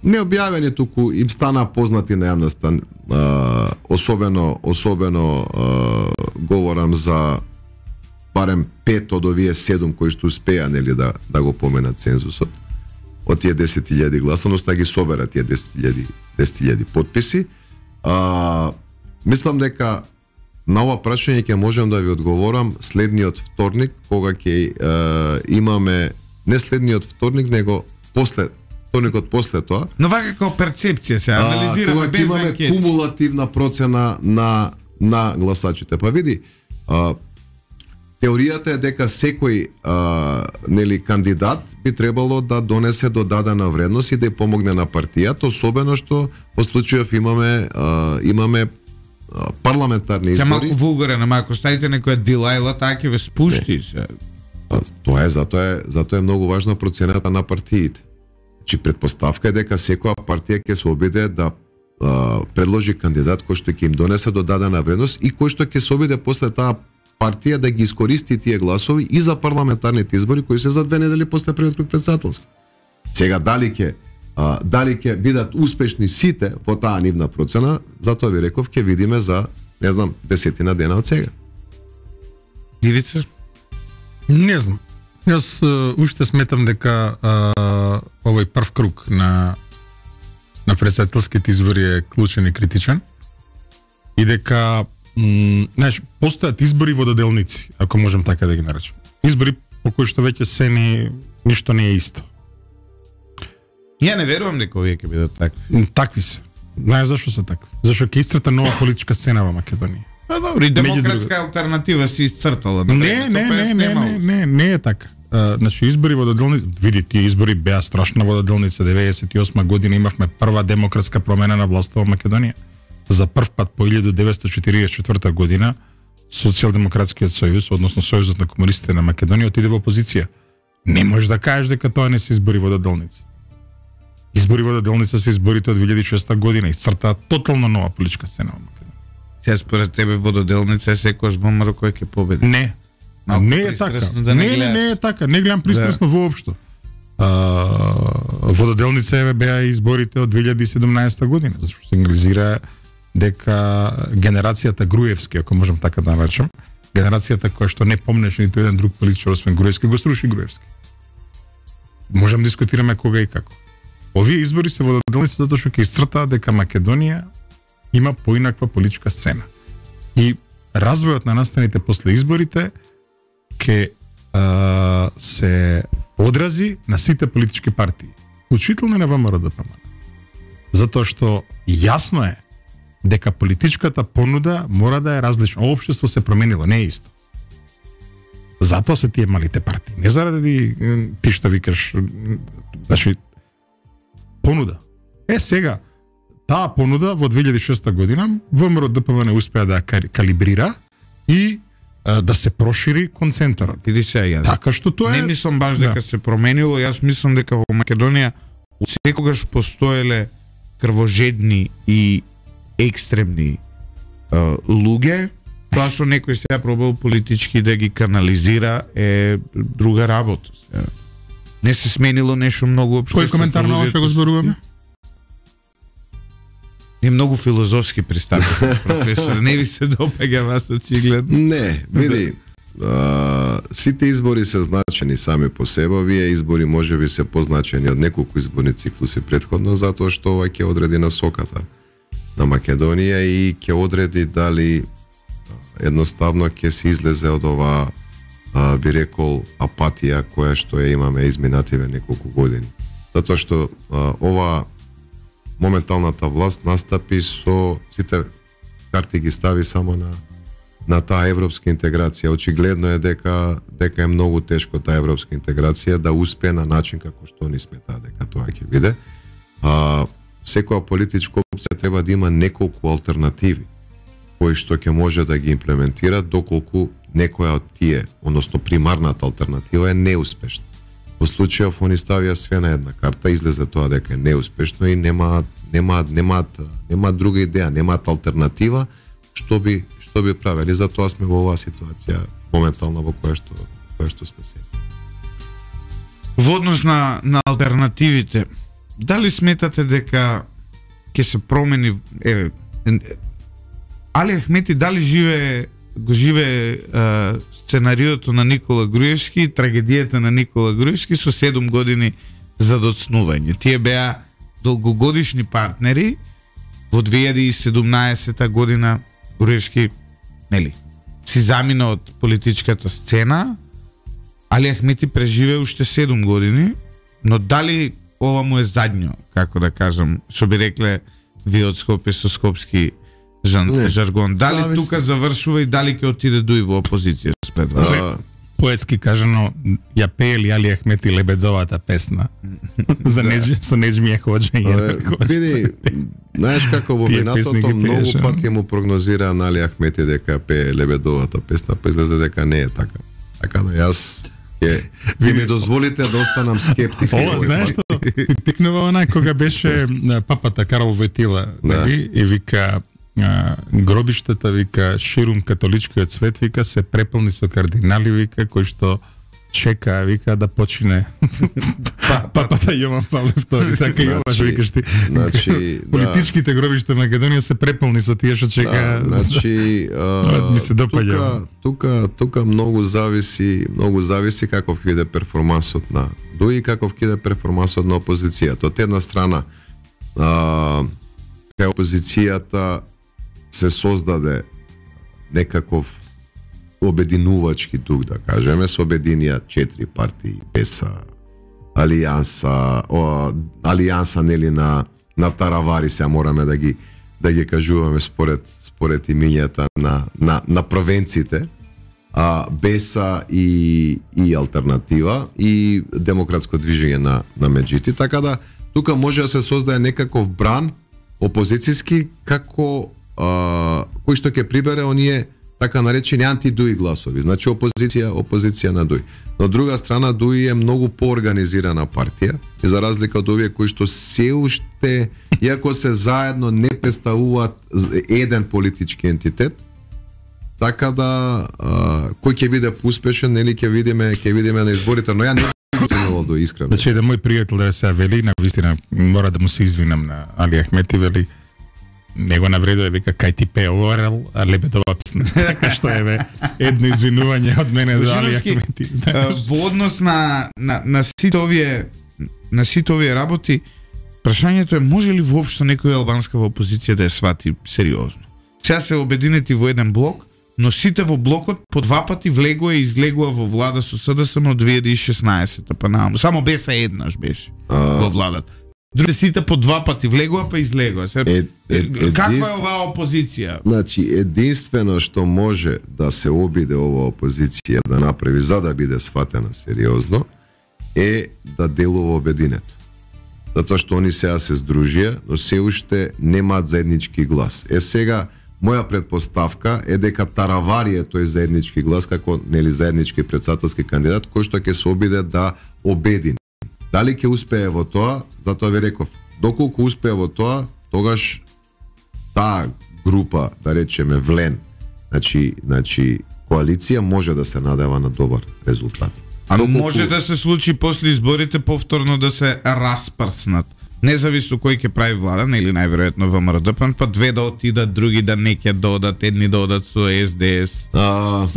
не објавени, туку им стана познати на јавноста, а, особено, особено а, говорам за барем пет од овие седум кои што успеа, нели, да, да го поменат цензусот од тие десет илјади гласа, односно да ги соберат тие десет илјади потписи. А, мислам дека на ова прашање ќе можам да ви одговорам следниот вторник, кога ќе имаме, не следниот вторник, него после вторникот после тоа. Но вака како перцепција се анализираме без имаме анкети. Кумулативна процена на на гласачите. Па види, а, теоријата е дека секој а, нели кандидат би требало да донесе додадена вредност и да ја помогне на партијата, особено што во случајов имаме а, имаме а, парламентарни избори. Се малку вулгарен, ама ако ставите некоја Дилајла, таа ќе ве спушти. Се. Тоа е, затоа е, затоа е многу важна процената на партиите. Значи претпоставка е дека секоја партија ќе се обиде да а, предложи кандидат кој што ќе им донесе додадена вредност и кој што ќе се обиде после таа партија да ги искористи тие гласови и за парламентарните избори кои се за две недели после првиот круг председателски. Сега дали ќе а, дали ќе бидат успешни сите во таа нивна процена, затоа ви реков ќе видиме за, не знам, десетина дена од сега. Ивица? Не знам. Јас uh, уште сметам дека uh, овој прв круг на на председателските избори е клучен и критичен и дека м, знаеш, постојат избори вододелници, ако можем така да ги наречем. Избори по кои што веќе се не ништо не е исто. Ја не верувам дека овие ќе бидат такви. Такви се. Знаеш зашо се такви? Зашо ќе исцрта нова политичка сцена во Македонија. Па добро, и демократска алтернатива се исцртала. Не, не, не, не, не, не, не е така. Uh, значи избори вододелници, види, тие избори беа страшна вододелница. деветдесет и осма година имавме прва демократска промена на власта во Македонија. За прв пат по илјада деветстотини четиридесет и четврта година Социјалдемократскиот сојуз, односно Сојузот на комунистите на Македонија отиде во опозиција. Не можеш да кажеш дека тоа не се избори вододелници. Избори вододелница се изборите од две илјади и шеста година и цртаа тотално нова политичка сцена во Македонија. Сега според тебе вододелница е секојаш ВМРО кој ќе победи. Не. Малко не е така. Да не, не, не, не е така. Не гледам пристрасно да. Воопшто. А, вододелница е беа изборите од две илјади и седумнаесета година, зашто сигнализира дека генерацијата Груевски, ако можам така да наречам, генерацијата која што не помнеше ниту еден друг политичар освен Груевски, го сруши Груевски. Можам да дискутираме кога и како. Овие избори се вододелници затоа што ќе исцртаа дека Македонија има поинаква политичка сцена. И развојот на настаните после изборите ќе а, се одрази на сите политички партии, вклучително на ВМРО ДПМН. Затоа што јасно е дека политичката понуда мора да е различна. Општество се променило, не е исто. Затоа се тие малите партии. Не заради ти што викаш, значи понуда. Е сега таа понуда во две илјади и шеста година ВМРО ДПМН успеа да ја калибрира и да се прошири концентарот. Види се ја. Така што тоа е. Не мислам баш дека да. се променило, јас мислам дека во Македонија секогаш постоеле крвожедни и екстремни uh, луѓе. Тоа што некој сега пробал политички да ги канализира е друга работа. Сега. Не се сменило нешто многу општо. Кој коментар на ова што го зборуваме? Не многу филозофски пристапите, професор. Не ви се допаѓа вас очигледно? Не, види, а, сите избори се значени сами по себе. Овие избори може би се позначени од неколку изборни циклуси претходно, затоа што ова ќе одреди насоката на Македонија и ќе одреди дали едноставно ќе се излезе од ова, а, би рекол, апатија која што ја имаме изминативе неколку години. Затоа што а, ова моменталната власт настапи со сите карти ги стави само на на таа европска интеграција. Очигледно е дека дека е многу тешко таа европска интеграција да успее на начин како што ни сметаа дека тоа ќе биде. А секоја политичка опција треба да има неколку алтернативи кои што ќе може да ги имплементира доколку некоја од тие, односно примарната алтернатива е неуспешна. Во случајов они ставија све на една карта, излезе тоа дека е неуспешно и нема нема нема нема друга идеја, немаат алтернатива што би што би правели. Затоа сме во оваа ситуација моментална во која што која што сме сега. Во однос на на алтернативите, дали сметате дека ќе се промени еве Али Ахмети дали живее го живее а, сценариото на Никола Груевски, трагедијата на Никола Груевски со седум години за доцнување. Тие беа долгогодишни партнери. Во две илјади и седумнаесета година Груевски, нели, си замина од политичката сцена. Али Ахмети преживее уште седум години, но дали ова му е задњо, како да кажам, што би рекле ви од Скопје со скопски жан, не, жаргон. Дали зависи. Тука завршува и дали ќе отиде дуи во опозиција спет? А, поетски кажано, ја пеели Али Ахмети Лебедовата песна за неж, со нежмија ходжање. Види, знаеш како во минатото многу пати му прогнозира на Али Ахмети дека пее Лебедовата песна, па излезе дека не е така. Така да јас ќе ви ми дозволите да останам скептик. Ова, знаеш што? Пикнува онаа кога беше папата Карол Војтила, нели, и вика а, гробиштата, вика, ширум католичкиот свет, вика, се преполни со кардинали, вика, кои што чека, вика, да почине папата Јован Павле втори, така и ова што викаш ти. Значи, политичките гробишта на Македонија се преполни со тие што чека. Да, значи, ми се допаѓа. Тука, тука многу зависи, многу зависи каков ќе биде перформансот на Дуи и каков ќе биде перформансот на опозицијата. Од една страна, а, кај опозицијата се создаде некаков обединувачки дух, да кажеме, се обединија четири партии, БЕСА, Алијанса, о, Алијанса нели на на таравари, се мораме да ги да ги кажуваме според според имињата на на на провенците, а БЕСА и и алтернатива и демократско движење на на Меджити, така да тука може да се создаде некаков бран опозицијски како а, кој што ќе прибере оние така наречени антидуи гласови, значи опозиција, опозиција на Дуи. Но од друга страна Дуи е многу поорганизирана партија и за разлика од овие кои што се уште, иако се заедно не представуваат еден политички ентитет, така да а, кој ќе биде успешен, нели ќе видиме, ќе видиме на изборите, но ја не ценувал Дуи искрено. Значи да мој пријател да се вели, на вистина мора да му се извинам на Али Ахмети, вели него навредува, вика, кај ти пее Орел, а Лебедова песна. Така што е, бе, едно извинување од мене за Али Ахмети. Во однос на, на, на сите овие на сите овие работи, прашањето е може ли воопшто некоја албанска во опозиција да ја свати сериозно? Сега се обединети во еден блок, но сите во блокот по два пати влегува и излегува во влада со СДСМ од две илјади и шеснаесета па нааму. Само БЕСА еднаш беше во владата. Другите сите по два пати влегува па излегува. Се, е, е, каква е оваа опозиција? Значи, единствено што може да се обиде оваа опозиција да направи за да биде сватена сериозно е да делува обединето. Затоа што они сега се здружија, но се уште немаат заеднички глас. Е сега, моја предпоставка е дека Таравари е тој заеднички глас како нели заеднички претседателски кандидат кој што ќе се обиде да обедини. Дали ќе успее во тоа, затоа ви реков, доколку успее во тоа, тогаш таа група, да речеме Влен, значи, значи коалиција може да се надева на добар резултат. А доколку... може да се случи после изборите повторно да се распрснат. Независно кој ќе прави влада, или најверојатно ВМРО-ДПМ, па две да отидат, други да не ќе додат, едни да одат со СДС. А...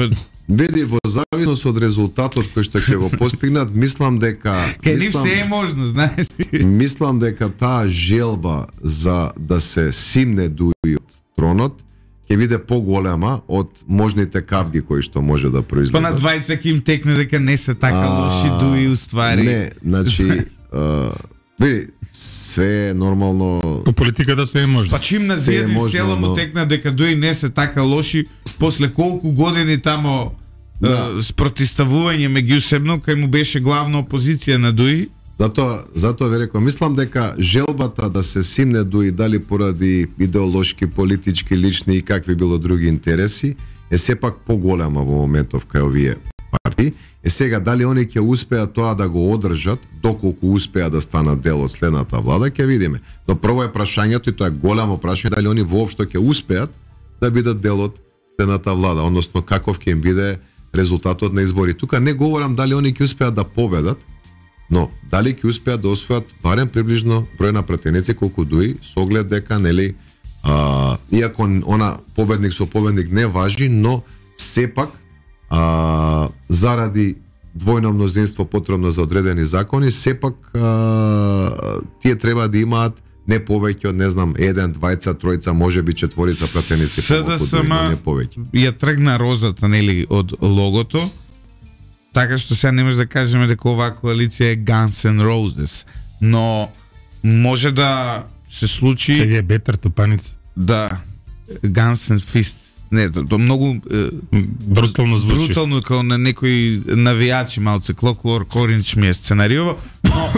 Види, во зависност од резултатот кој што ќе го постигнат, мислам дека Ке ни се е можно, знаеш. Мислам дека таа желба за да се симне Дуи од тронот ќе биде поголема од можните кавги кои што може да произлезат. Па на дваесет им текне дека не се така а, лоши Дуи уствари. Не, значи Види, све е нормално. По политиката се е може. Па чим на Се е зијади можно, села му но- текна дека дои не се така лоши, после колку години тамо Да. е, спротиставување меѓусебно, кај му беше главна опозиција на Дуи. Затоа, затоа ви реков, мислам дека желбата да се симне Дуи дали поради идеолошки, политички, лични и какви било други интереси е сепак поголема во моментов кај овие партии. Е сега дали они ќе успеат тоа да го одржат, доколку успеат да станат дел од следната влада, ќе видиме. Но прво е прашањето, и тоа е голямо прашање, дали они воопшто ќе успеат да бидат дел од следната влада, односно каков ќе им биде резултатот на избори. Тука не говорам дали они ќе успеат да победат, но дали ќе успеат да освојат барем приближно број на пратеници колку Дуи, со оглед дека нели а, иако она победник со победник не важи, но сепак а, заради двојно мнозинство потребно за одредени закони, сепак а, тие треба да имаат не повеќе од, не знам, еден, двајца, тројца, можеби четворица пратеници помалку Дуи, но не повеќе. ја тргна розата, нели, од логото, така што сега не може да кажеме дека оваа коалиција е Guns N' Roses, но може да се случи Сега е бетер топаница. да Guns N' Fists. Не, то, то многу е, Брутално звучи. брутално како на некои навијачи малце, Clockwork Orange ми е сценариово, но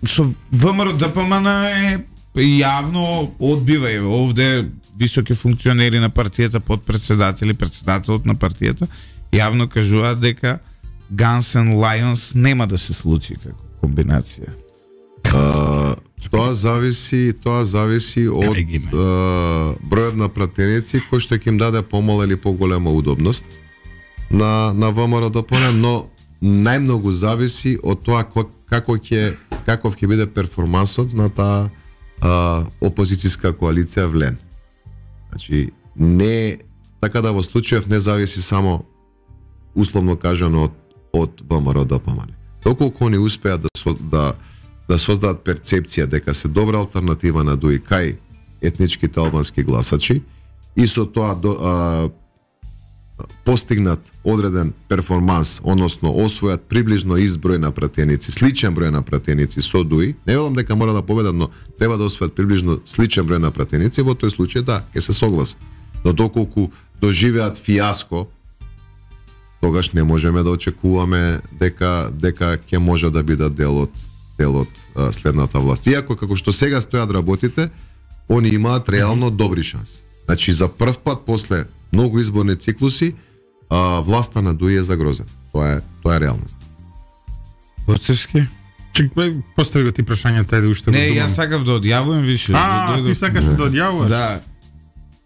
со ВМРО Д П М Н е јавно одбива и овде високи функционери на партијата, подпредседатели, председателот на партијата, јавно кажуваат дека Guns N' Lions нема да се случи како комбинација. А, тоа зависи, тоа зависи од Кај ги има? а, бројот на пратеници кој што ќе им даде помала или поголема удобност на на ВМРО Д П М Н, но најмногу зависи од тоа ко- како ќе каков ќе биде перформансот на таа а, опозицијска коалиција влен. Значи не така да во случајов не зависи само условно кажано од од ВМРО Д П М Н. Доколку они успеат да со, да да создадат перцепција дека се добра алтернатива на Дуи кај етничките албански гласачи и со тоа до, а, постигнат одреден перформанс, односно освојат приближно ист број на пратеници, сличен број на пратеници со Дуи, не велам дека мора да победат, но треба да освојат приближно сличен број на пратеници, во тој случај да, ќе се согласи. Но доколку доживеат фиаско, тогаш не можеме да очекуваме дека дека ќе може да бидат дел од дел од а, следната власт. Иако како што сега стојат работите, они имаат реално добри шанси. Значи за прв пат после многу изборни циклуси, а, власта на Дуи е загрозена. Тоа е тоа е реалност. Боцевски? Чек, бе, постави го ти прашањата, ајде уште Не, го думам. јас сакав да одјавувам више. А, да ти сакаш да одјавуваш? Да.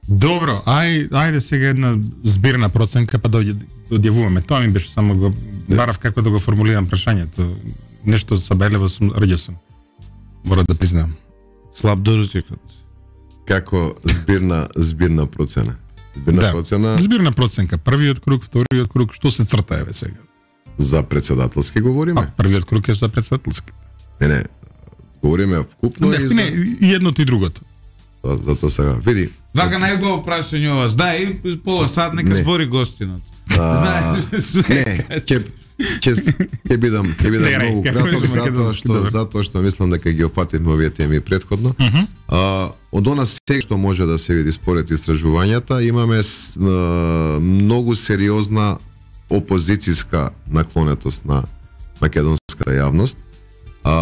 Добро, ај, ајде сега една збирна проценка па да одј- да одјавуваме. Тоа ми беше само го барав како да го формулирам прашањето. Нешто сабелево сум рѓесен. Мора да признам. Слаб доручекот. Како збирна збирна процена. Збирна Да. процена Збирна проценка, првиот круг, вториот круг, што се црта еве сега? за председателски говориме. А првиот круг е за председателски. Не, не. Говориме вкупно Не, и не, за, и едното и другото. затоа сега. Види, Вака најубаво прашање ова. Да, и пола сат нека Не. збори гостинот. а, Знаеш, не, све. ќе ќе ќе бидам ќе бидам Лерај, многу како краток можеме затоа македонски, што добро. затоа што мислам дека ги опфативме овие теми претходно. А, од она се што може да се види според истражувањата, имаме с, а, многу сериозна опозицијска наклонетост на македонската јавност а,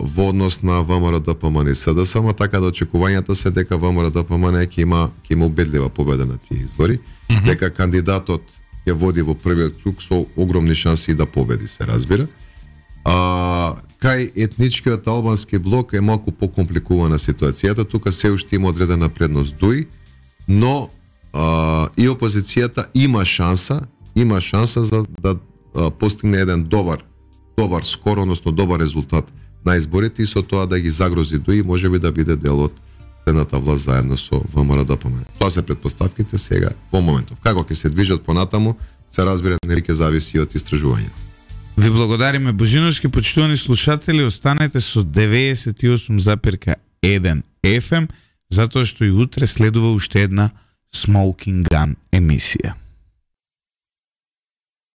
во однос на ВМРО Д П М Н и С Д С, ама така да очекувањата се дека ВМРО Д П М Н ќе има ќе има убедлива победа на тие избори, mm -hmm. дека кандидатот ќе води во првиот круг со огромни шанси да победи, се разбира. А, кај етничкиот албански блок е малку покомпликувана ситуацијата, тука се уште има одредена предност Дуи, но а, и опозицијата има шанса, има шанса за да а, постигне еден добар добар скор, односно добар резултат на изборите и со тоа да ги загрози Дуи, можеби да биде дел од следната власт заедно со ВМРО Д П М Н. Тоа се претпоставките сега во моментов. Како ќе се движат понатаму, се разбира, нели ќе зависи од истражувањето. Ви благодариме, Божиновски, почитувани слушатели, останете со деветдесет и осум запирка еден Еф Ем, затоа што и утре следува уште една Smoking Gun емисија.